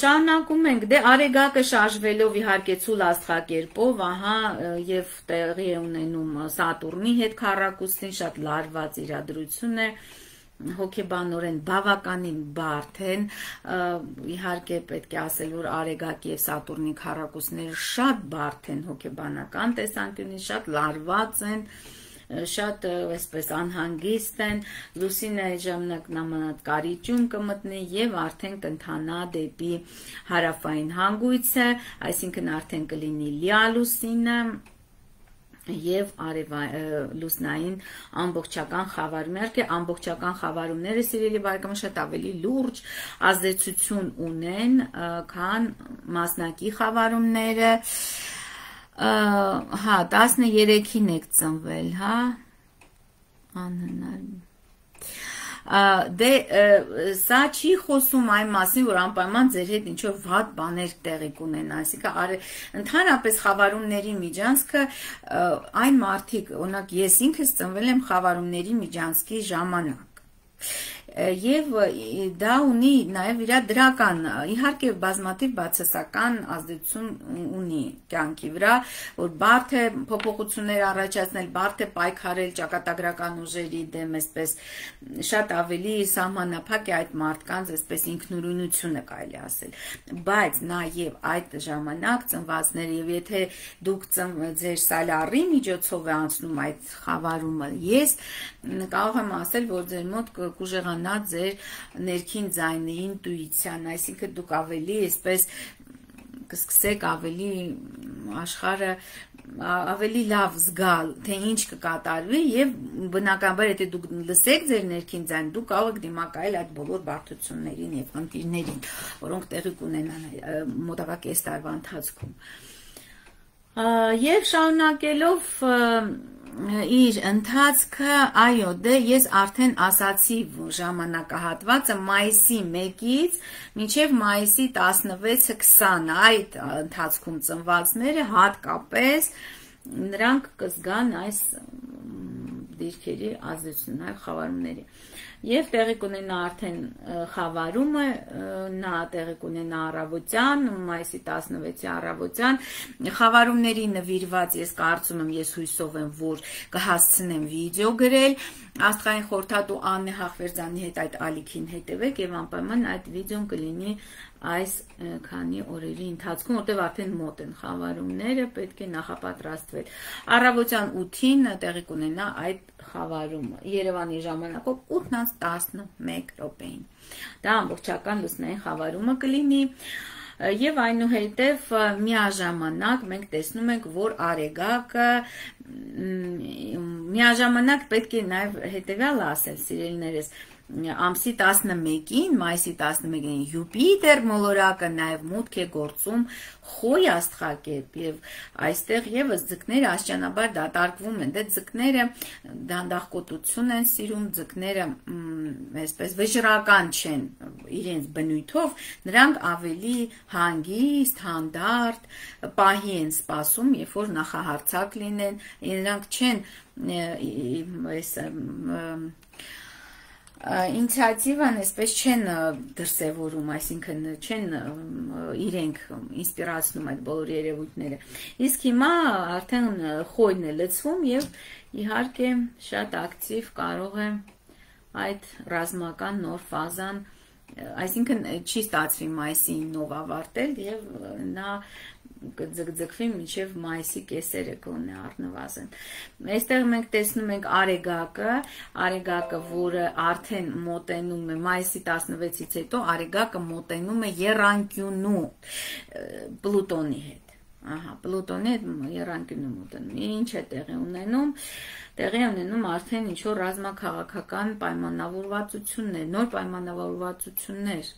Շարունակում ենք, դե արեգակը շարժվելով իհարկե ցուլ աստղակերպով, ահա եւ տեղի է ունենում Սատուրնի հետ քառակուսին, շատ լարված իրադրություն է, հոգեբանորեն բավականին բարդ են, իհարկե պետք է ասել, որ արեգակի եւ Սատուրնի քառակուսիները շատ բարդ են հոգեբանական տեսանկյունից, շատ լարված են, շատ այսպես անհանգիստ են, լուսինը այդ ժամանակ նամանած կարիճում կմտնի եւ արդեն կընթանա դեպի հարավային հանգույցը, այսինքն արդեն կլինի լիա լուսինը եւ լուսնային ամբողջական խավարում, իհարկե ամբողջական խավարումները սիրելի բարեկամներ շատ ավելի լուրջ ազդեցություն ունեն, քան մասնակի խավարումները, հա 13-ին եք ծնվել, հա անհնար դե սա չի խոսում այն մասին, որ անպայման ձեր հետ ինչ-որ վատ բաներ տեղի կունենան, այսինքն ընդհանրապես խավարումների միջանցքը այն մարդիկ, օրինակ ես ինքս ծնվել եմ խավարումների միջանցքի ժամանակ եւ դա ունի նաեւ իր դրական, իհարկե բազմաթիվ բացասական ազդեցություն ունի կյանքի վրա, որ բարդ է փոփոխություններ առաջացնել, բարդ է պայքարել ճակատագրական ուժերի դեմ, այսպես շատ ավելի սահմանափակ է այդ մարդկանց այսպես ինքնուրույնությունը կարելի ասել, բայց նաեւ այդ ժամանակ ծնվածները եւ եթե դուք ձեր սալարի միջոցով է անցնում այդ խավարումը, ես կարող եմ ասել, որ ձեր մոտ կուժեղանա ձեր ներքին ձայնի ինտուիցիան, այսինքն դուք ավելի այսպես կսկսեք ավելի աշխարհը ավելի լավ զգալ, թե ինչ կկատարվի եւ բնականաբար եթե դուք լսեք ձեր ներքին ձայն, դուք կարող եք դիմակայել այդ բոլոր բարդություններին եւ խնդիրներին, որոնք տեղի կունենան մոտակա կես տարվա ընթացքում։ Եվ շարունակելով իր ընթացքը, այո, դե ես արդեն ասացի ժամանակահատվածը մայիսի 1-ից մինչև մայիսի 16-20 այդ ընթացքում ծնվածները հատկապես նրանք կզգան այս դիրքերի ազդեցությունն այլ խավարումների եւ տեղի կունենա արդեն խավարումը, նա տեղի կունենա առավոտյան, մայիսի 16-ի առավոտյան, խավարումների նվիրված ես կարծում եմ, ես հույսով եմ, որ կհասցնեմ վիդեո գրել, աստղային խորհրդատու Աննե Հախվերդյանի հետ այդ ալիքին հետևեք եւ անպայման այդ վիդեոն կլինի այս քանի օրերի ընթացքում, որտեղ արդեն մոտ են խավարումները, պետք է նախապատրաստվել։ Առավոտյան 8-ին տեղի կունենա այդ խավարումը, Երևանի ժամանակով 8:11 րոպեին։ Դա ամբողջական լուսնային խավարումը կլինի եւ այնուհետեւ միաժամանակ մենք տեսնում ենք, որ արեգակը միաժամանակ պետք է նաեւ հետեւյալը ասել, սիրելիներս, ամսի 11-ին, մայիսի 11-ին Յուպիտեր մոլորակը նաև մուտք է գործում Խոյ աստղակերպ եւ այստեղ եւս ձկները աստիճանաբար դատարկվում են, դե ձկները դանդաղկոտություն են սիրում, ձկները այսպես վճռական չեն իրենց բնույթով, նրանք ավելի հանգիստ, հանդարտ պահի են սպասում, երբ որ նախահարցակ լինեն, նրանք չեն ինիցիատիվան այսպես չեն դրսևորում, այսինքն չեն իրենք ինսպիրացնում այդ բոլոր երևույթները։ Իսկ հիմա արդեն խոյն է լցվում եւ իհարկե շատ ակտիվ կարող է այդ ռազմական նոր ֆազան, այսինքն չի ստացվի մայիսի 9-ով ավարտել եւ նա կձգձգվի մինչև մայիսի կեսերը կոնե առնվազն։ Այստեղ մենք տեսնում ենք Արեգակը, որը արդեն մոտենում է մայիսի 16-ից հետո Արեգակը մոտենում է եռանկյունու Պլուտոնի հետ։ Պլուտոնի հետ եռանկյունու մոտենում։ Ինչ է տեղի ունենում։ Տեղի ունենում արդեն ինչ-որ ռազմաքաղաքական պայմանավորվածություններ, նոր պայմանավորվածություններ,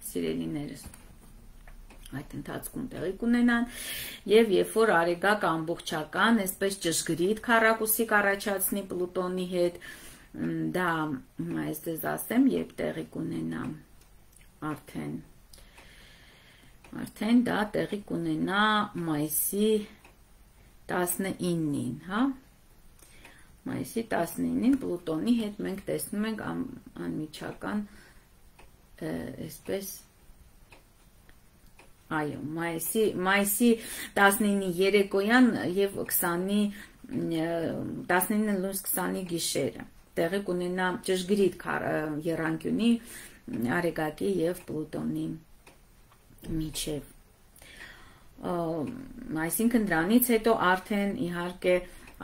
սիրելիներս, այդ ընթացքում տեղի կունենան եւ երբ որ Արեգակը ամբողջական, այսպես ճշգրիտ քառակուսի կառաջացնի Պլուտոնի հետ, դա այսպես ասեմ, երբ տեղի կունենա արդեն դա տեղի կունենա մայիսի 19-ին, հա։ Մայիսի 19-ին Պլուտոնի հետ մենք տեսնում ենք անմիջական այսպես այո, մայիսի 19-ի երեկոյան եւ 19-ի 20-ի գիշերը տեղի կունենա ճշգրիտ եռանկյունի Արեգակի եւ Պլուտոնի միջև։ Այսինքն դրանից հետո արդեն իհարկե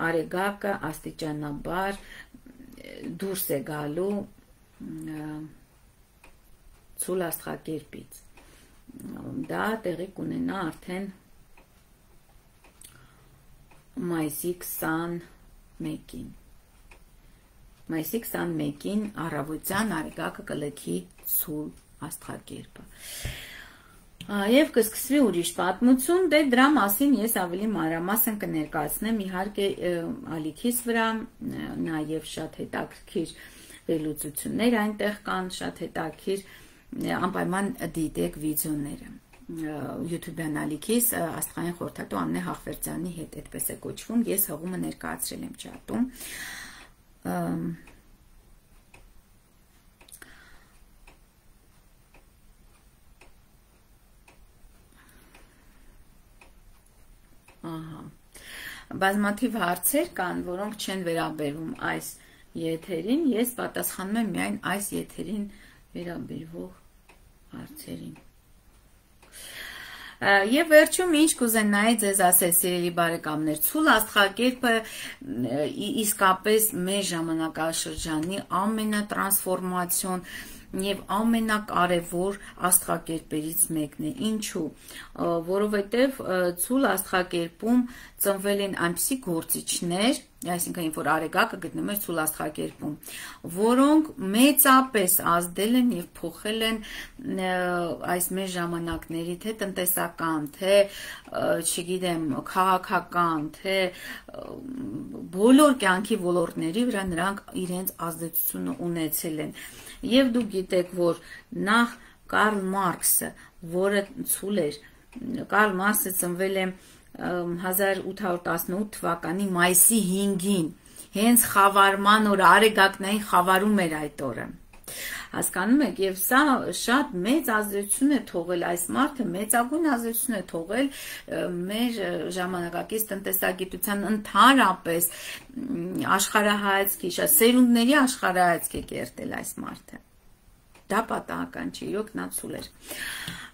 Արեգակը աստիճանաբար դուրս է գալու ցուլ աստղակերպից։ Դա տեղի կունենա արդեն մայիսի 21-ին։ Մայիսի 21-ին առավոտյան Արեգակը կլքի ցուլ աստղակերպը։ Եվ կսկսվի ուրիշ պատմություն, դե դրա մասին ես ավելի մանրամասն կներկայացնեմ իհարկե ալիքիս վրա, նաև շատ հետաքրքիր վերլուծություններ այնտեղ կան, շատ հետաքրքիր անպայման դիտեք վիդեոները YouTube-յան ալիքիս աստղային խորհրդատու Ամնե Հախվերդյանի հետ, այդպես է կոչվում, ես հղումը ներկայացրել եմ չաթում։ Բազմաթիվ հարցեր կան, որոնք չեն վերաբերվում այս եթերին, ես պատասխանում եմ միայն այս եթերին վերաբերվող հարցերին։ Եվ վերջում ինչ կուզենայի ձեզ ասել, սիրելի բարեկամներ, ցուլ աստղակերպը իսկապես մեր ժամանակաշրջանի ամենատրանսֆորմացիոն եւ ամենակարևոր աստղակերպերից մեկն է։ Ինչու՞։ Որովհետեւ ցուլ աստղակերպում ծնվել են այնպիսի գործիչներ, այսինքն որ Արեգակը գտնվում է ցուլ աստղակերպում, որոնք մեծապես ազդել են եւ փոխել են այս մեր ժամանակների թե տնտեսական, թե չգիտեմ, քաղաքական, թե բոլոր կյանքի ոլորտների վրա նրանք իրենց ազդեցությունը ունեցել են։ Եվ դուք գիտեք, որ նախ Կարլ Մարքսը, որը ցուլ էր, Կարլ Մարքսը ծնվել է 1818 թվականի մայիսի 5-ին, հենց խավարման օրը, Արեգակնային խավարում էր այդ օրը։ Հասկանում եք, եւ սա շատ մեծ ազդեցություն է թողել, այս մարդը մեծագույն ազդեցություն է թողել մեր ժամանակակից տնտեսագիտության ընդհանրապես աշխարհայացքի, շատ սերունդների աշխարհայացք է կերտել այս մարդը։ դա պատահական չի, իրոք նա ցուլ էր։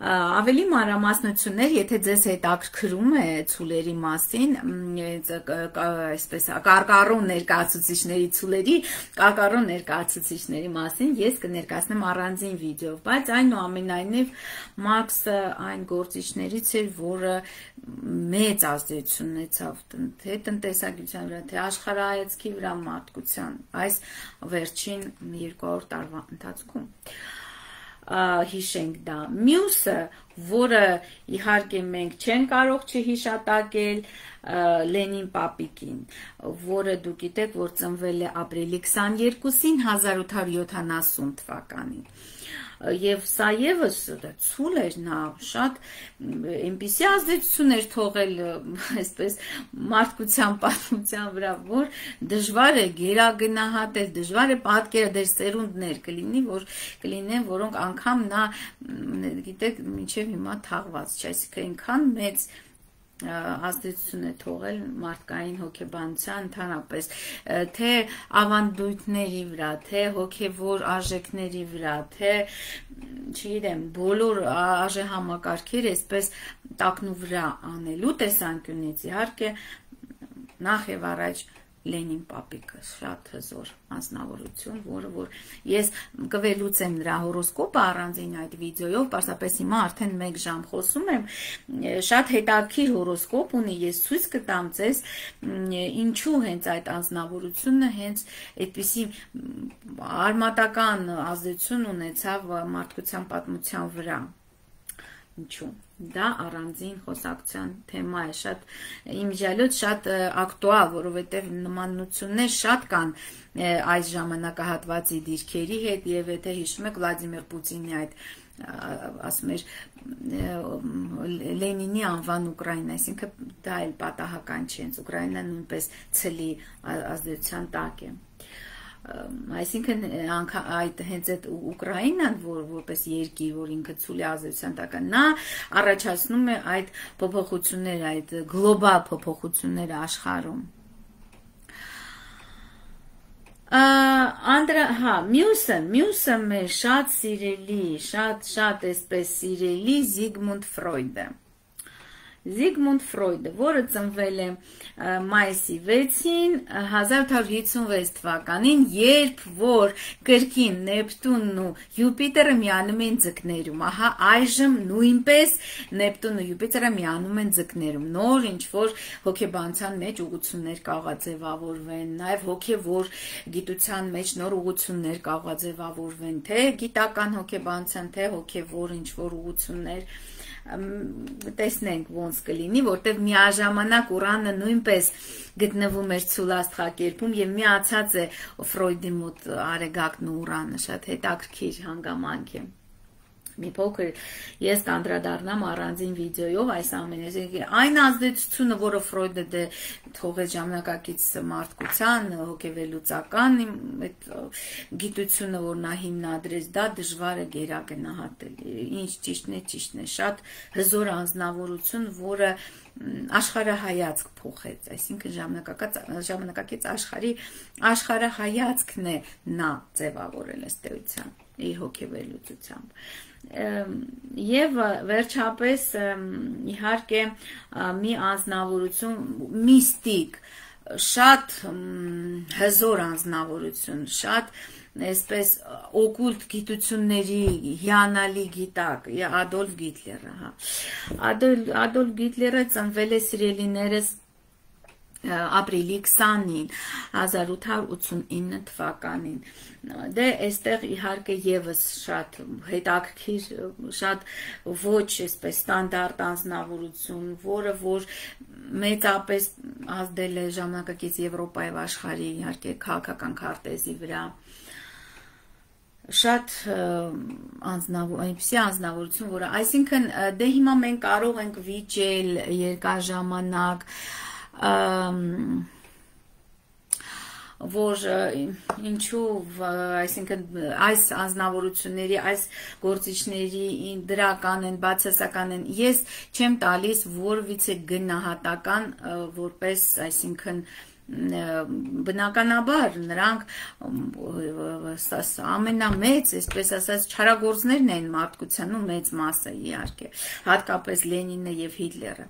Ավելի մանրամասնություններ, եթե ձեզ հետաքրքրում է ցուլերի մասին, այսպես կարկառու ներկայացուցիչների ցուլերի, կարկառու ներկայացուցիչների մասին ես կներկայացնեմ առանձին վիդեո, բայց այնուամենայնիվ Մարքսը այն գործիչներից էր, որը մեծ ազդեցություն ունեցավ թե տնտեսագիտության վրա, թե աշխարհայացքի վրա, մարդկության այս վերջին 200 տարվա ընթացքում։ Հիշենք դա։ Մյուսը, որը իհարկե մենք չենք կարող չհիշատակել, Լենին Պապիկին, որը դուք գիտեք, որ ծնվել է ապրիլի 22-ին 1870 թվականին։ Եվ սա եւս ցուլ էր, նա շատ այնպիսի ազդեցություն էր թողել, այսպես մարդկության պատմության վրա, որ դժվար է գերագնահատել, դժվար է պատկերել, դեր սերունդներ կլինեն, որոնք անգամ նա, գիտեք, մինչև հիմա թաղված չէ, այսինքն այնքան մեծ ազդեցություն է թողել մարդկային հոգեբանության ընդհանրապես, թե ավանդույթների վրա, թե հոգևոր արժեքների վրա, թե չգիտեմ, բոլոր արժեհամակարգերը այսպես տակնու վրա անելու տեսանկյունից, իհարկե նախ եւ առաջ Լենին Պապիկը շատ հզոր անձնավորություն, որը որ ես կվելուծեմ նրա հորոսկոպը առանձին այդ վիդեոյով, պարզապես հիմա արդեն 1 ժամ խոսում եմ, շատ հետաքրքիր հորոսկոպ ունի, ես ցույց կտամ ձեզ ինչու հենց այդ անձնավորությունը հենց այդպիսի արմատական ազդեցություն ունեցավ մարդկության պատմության վրա։ Ինչու։ Դա առանձին խոսակցության թեմա է, շատ իմիջիալոց շատ ակտուալ, որովհետև նմանություններ շատ կան այս ժամանակահատվածի դիրքերի հետ, եւ եթե հիշում եք Վլադիմիր Պուտինի այդ ասում էր Լենինի անվան Ուկրաինա, այսինքն դա էլ պատահական չի, հենց Ուկրաինան նույնպես ցլի ազդեցության տակ է։ Այսինքն այդ հենց այդ Ուկրաինան, որպես երկիր, որ ինքը ցուլի ազդեցության տակ է, նա առաջացնում է այդ փոփոխությունները, այդ գլոբալ փոփոխությունները աշխարհում։ Մյուսը մեր շատ սիրելի, շատ այսպես սիրելի Զիգմունդ Ֆրոյդը։ Զիգմունդ Ֆրոյդը, որը ծնվել է մայիսի 6-ին 1856 թվականին, երբ որ կրկին Նեպտունն ու Յուպիտերը միանում են ձկներում, ահա այժմ նույնպես Նեպտունն ու Յուպիտերը միանում են ձկներում, նոր ինչ-որ հոգեբանության մեջ ուղղություններ կարող է ձևավորվեն, նաև հոգևոր գիտության մեջ նոր ուղղություններ կարող է ձևավորվեն, թե գիտական հոգեբանության, թե հոգևոր ինչ-որ ուղղություններ, տեսնենք ոնց կլինի, որտեղ միաժամանակ Ուրանը նույնպես գտնվում էր ցուլ աստղակերպում եւ միացած է Ֆրոյդի մոտ Արեգակն ու Ուրանը, շատ հետաքրքիր հանգամանք է։ Մի փոքր ես կանդրադառնամ առանձին վիդեոյով այս ամենը, այն ազդեցությունը, որը Ֆրոյդը դե թողեց ժամանակակից մարդկության, հոգեվելուծական այդ գիտությունը, որ նա հիմնադրեց, դա դժվար է գերագնահատել։ Ինչ ճիշտն է, շատ հզոր անձնավորություն, որը աշխարհայացք փոխեց, այսինքն ժամանակակից աշխարհայացքն է նա ձևավորել ըստ էության իր հոգեվելուծությամբ։ Եվ վերջապես իհարկե մի անձնավորություն միստիկ, շատ հզոր անձնավորություն, շատ այսպես օկուլտ գիտությունների հիանալի գիտակ, Ադոլֆ Գիտլերը, հա։ Ադոլֆ Գիտլերը ծնվել է սիրելիներս ապրիլի 20-ին 1889 թվականին։ Դե այստեղ իհարկե եւս շատ հետաքրքիր, շատ ոչ այսպես ստանդարտ անձնավորություն, որը որ մեծապես ազդել է ժամանակակից Եվրոպայի եւ աշխարհի իհարկե քաղաքական քարտեզի վրա։ Շատ այնպիսի անձնավորություն, որը այսինքն դե հիմա մենք կարող ենք վիճել երկար ժամանակ, որ ինչու, այսինքն այս անձնավորությունների, այս գործիչների դրական են, բացասական են, ես չեմ տալիս որևիցե գնահատական որպես, այսինքն բնականաբար նրանք ամենամեծ, այսպես ասած, չարագործներն են մարդկության ու մեծ մասը իհարկե, հատկապես Լենինը եւ Հիտլերը,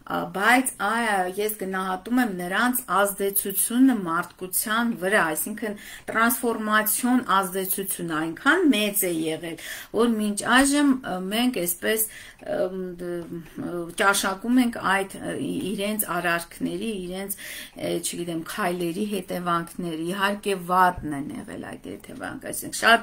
բայց ես գնահատում եմ նրանց ազդեցությունը մարդկության վրա, այսինքն տրանսֆորմացիոն ազդեցությունը այնքան մեծ է եղել, որ մինչ այժմ մենք այսպես ճաշակում ենք այդ իրենց արարքների, իրենց, չգիտեմ, քայլերի հետևանքները, իհարկե վատն են եղել այդ հետևանքը, այսինքն շատ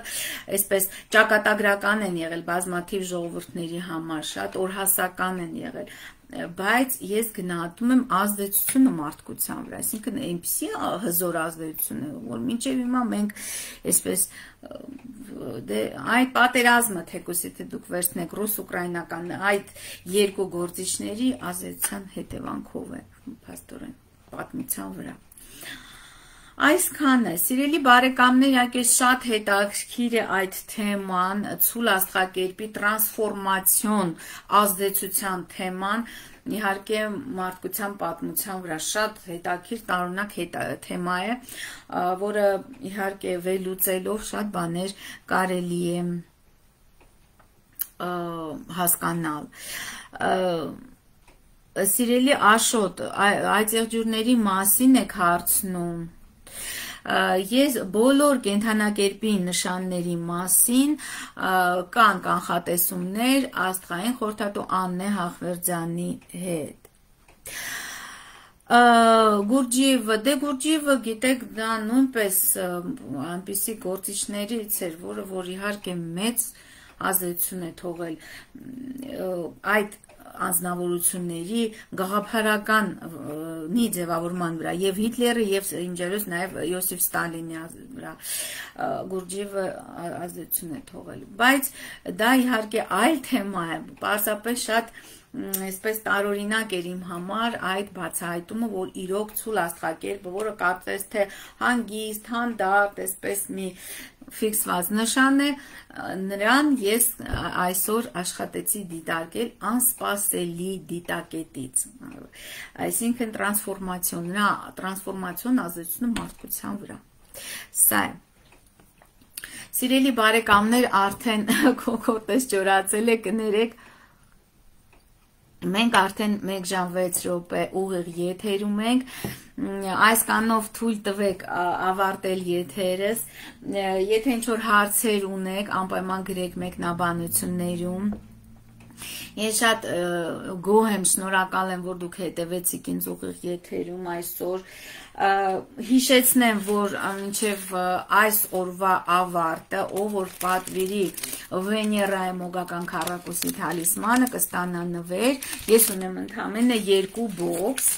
այսպես ճակատագրական են եղել բազմաթիվ ժողովուրդների համար, շատ օրհասական են եղել, բայց ես գնահատում եմ ազդեցությունը մարդկության վրա, այսինքն այնպիսի հզոր ազդեցություն է, որ մինչև հիմա մենք այսպես այդ պատերազմը, թեկուզ եթե դուք վերցնեք ռուս-ուկրաինական այդ երկու գործիչների ազդեցության հետևանքով է փաստորեն պատմության վրա։ Այսքանը, սիրելի բարեկամներ, իհարկե շատ հետաքրքիր է այդ թեման, ցուլ աստղակերպի տրանսֆորմացիոն ազդեցության թեման, իհարկե մարդկության պատմության վրա շատ հետաքրքիր տարօրինակ թեմա է, որը իհարկե վերլուծելով շատ բաներ կարելի է հասկանալ։ Սիրելի Աշոտ, այդ եղջյուրների մասին եք հարցնում։ Ես բոլոր կենդանակերպի նշանների մասին կան կանխատեսումներ աստղային խորհրդատու Աննե Հախվերդյանի հետ։ Գուրջիևը, Գուրջիևը, գիտեք, դա նույնպես այնպիսի գործիչներից էր, որ իհարկե մեծ ազդեցություն է թողել այդ անձնավորությունների գաղափարական մի ձևավորման վրա եւ Հիտլերը եւ ինժերոս նաեւ Յոսիֆ Ստալինի վրա Գուրջիևը ազդեցություն է թողել, բայց դա իհարկե այլ թեմա է, պարզապես շատ այսպես տարօրինակ էր իմ համար այդ բացահայտումը, որ իրոք ցուլ աստղակերպը, որը կարծես թե հանգիստ, հանդարտ, այսպես մի ֆիքսված նշան է, նրան ես այսօր աշխատեցի դիտարկել անսպասելի դիտակետից, այսինքն տրանսֆորմացիոն, նրա տրանսֆորմացիոն ազդեցությունը մարդկության վրա, սա է։ Սիրելի բարեկամներ, արդեն կոկոտես ջորացել է, կներեք, մենք արդեն 1 ժամ 6 րոպե ուղիղ եթերում ենք, այս կանով թույլ տվեք ավարտել եթերս, եթե ինչ-որ հարցեր ունեք, անպայման գրեք մեկնաբանություններում, ես շատ գոհ եմ, շնորհակալ եմ, որ դուք հետևեցիք ինձ ուղիղ եթերում այսօր, հիշեցնեմ, որ մինչև այս օրվա ավարտը, ով որ պատվիրի Վեներայի մոգական քառակուսի թալիսմանը կստանա նվեր, ես ունեմ ընդամենը 2 բոքս,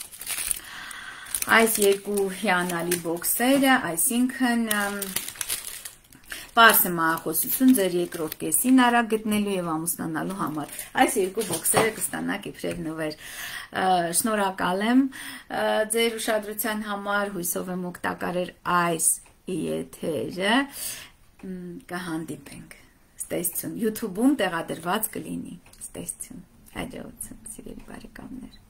այս 2 հիանալի բոքսերը, այսինքն պարզ է մահախոսություն ձեր երկրորդ կեսին արագ գտնելու եւ ամուսնանալու համար, այս 2 բոքսերը կստանաք իբրև նվեր, շնորհակալ եմ ձեր ուշադրության համար, հույսով եմ օգտակար էր այս եթերը, կհանդիպենք, ստեսություն, YouTube-ում տեղադրված կլինի, ստեսություն, հաջողություն, սիրելի բարեկամներ։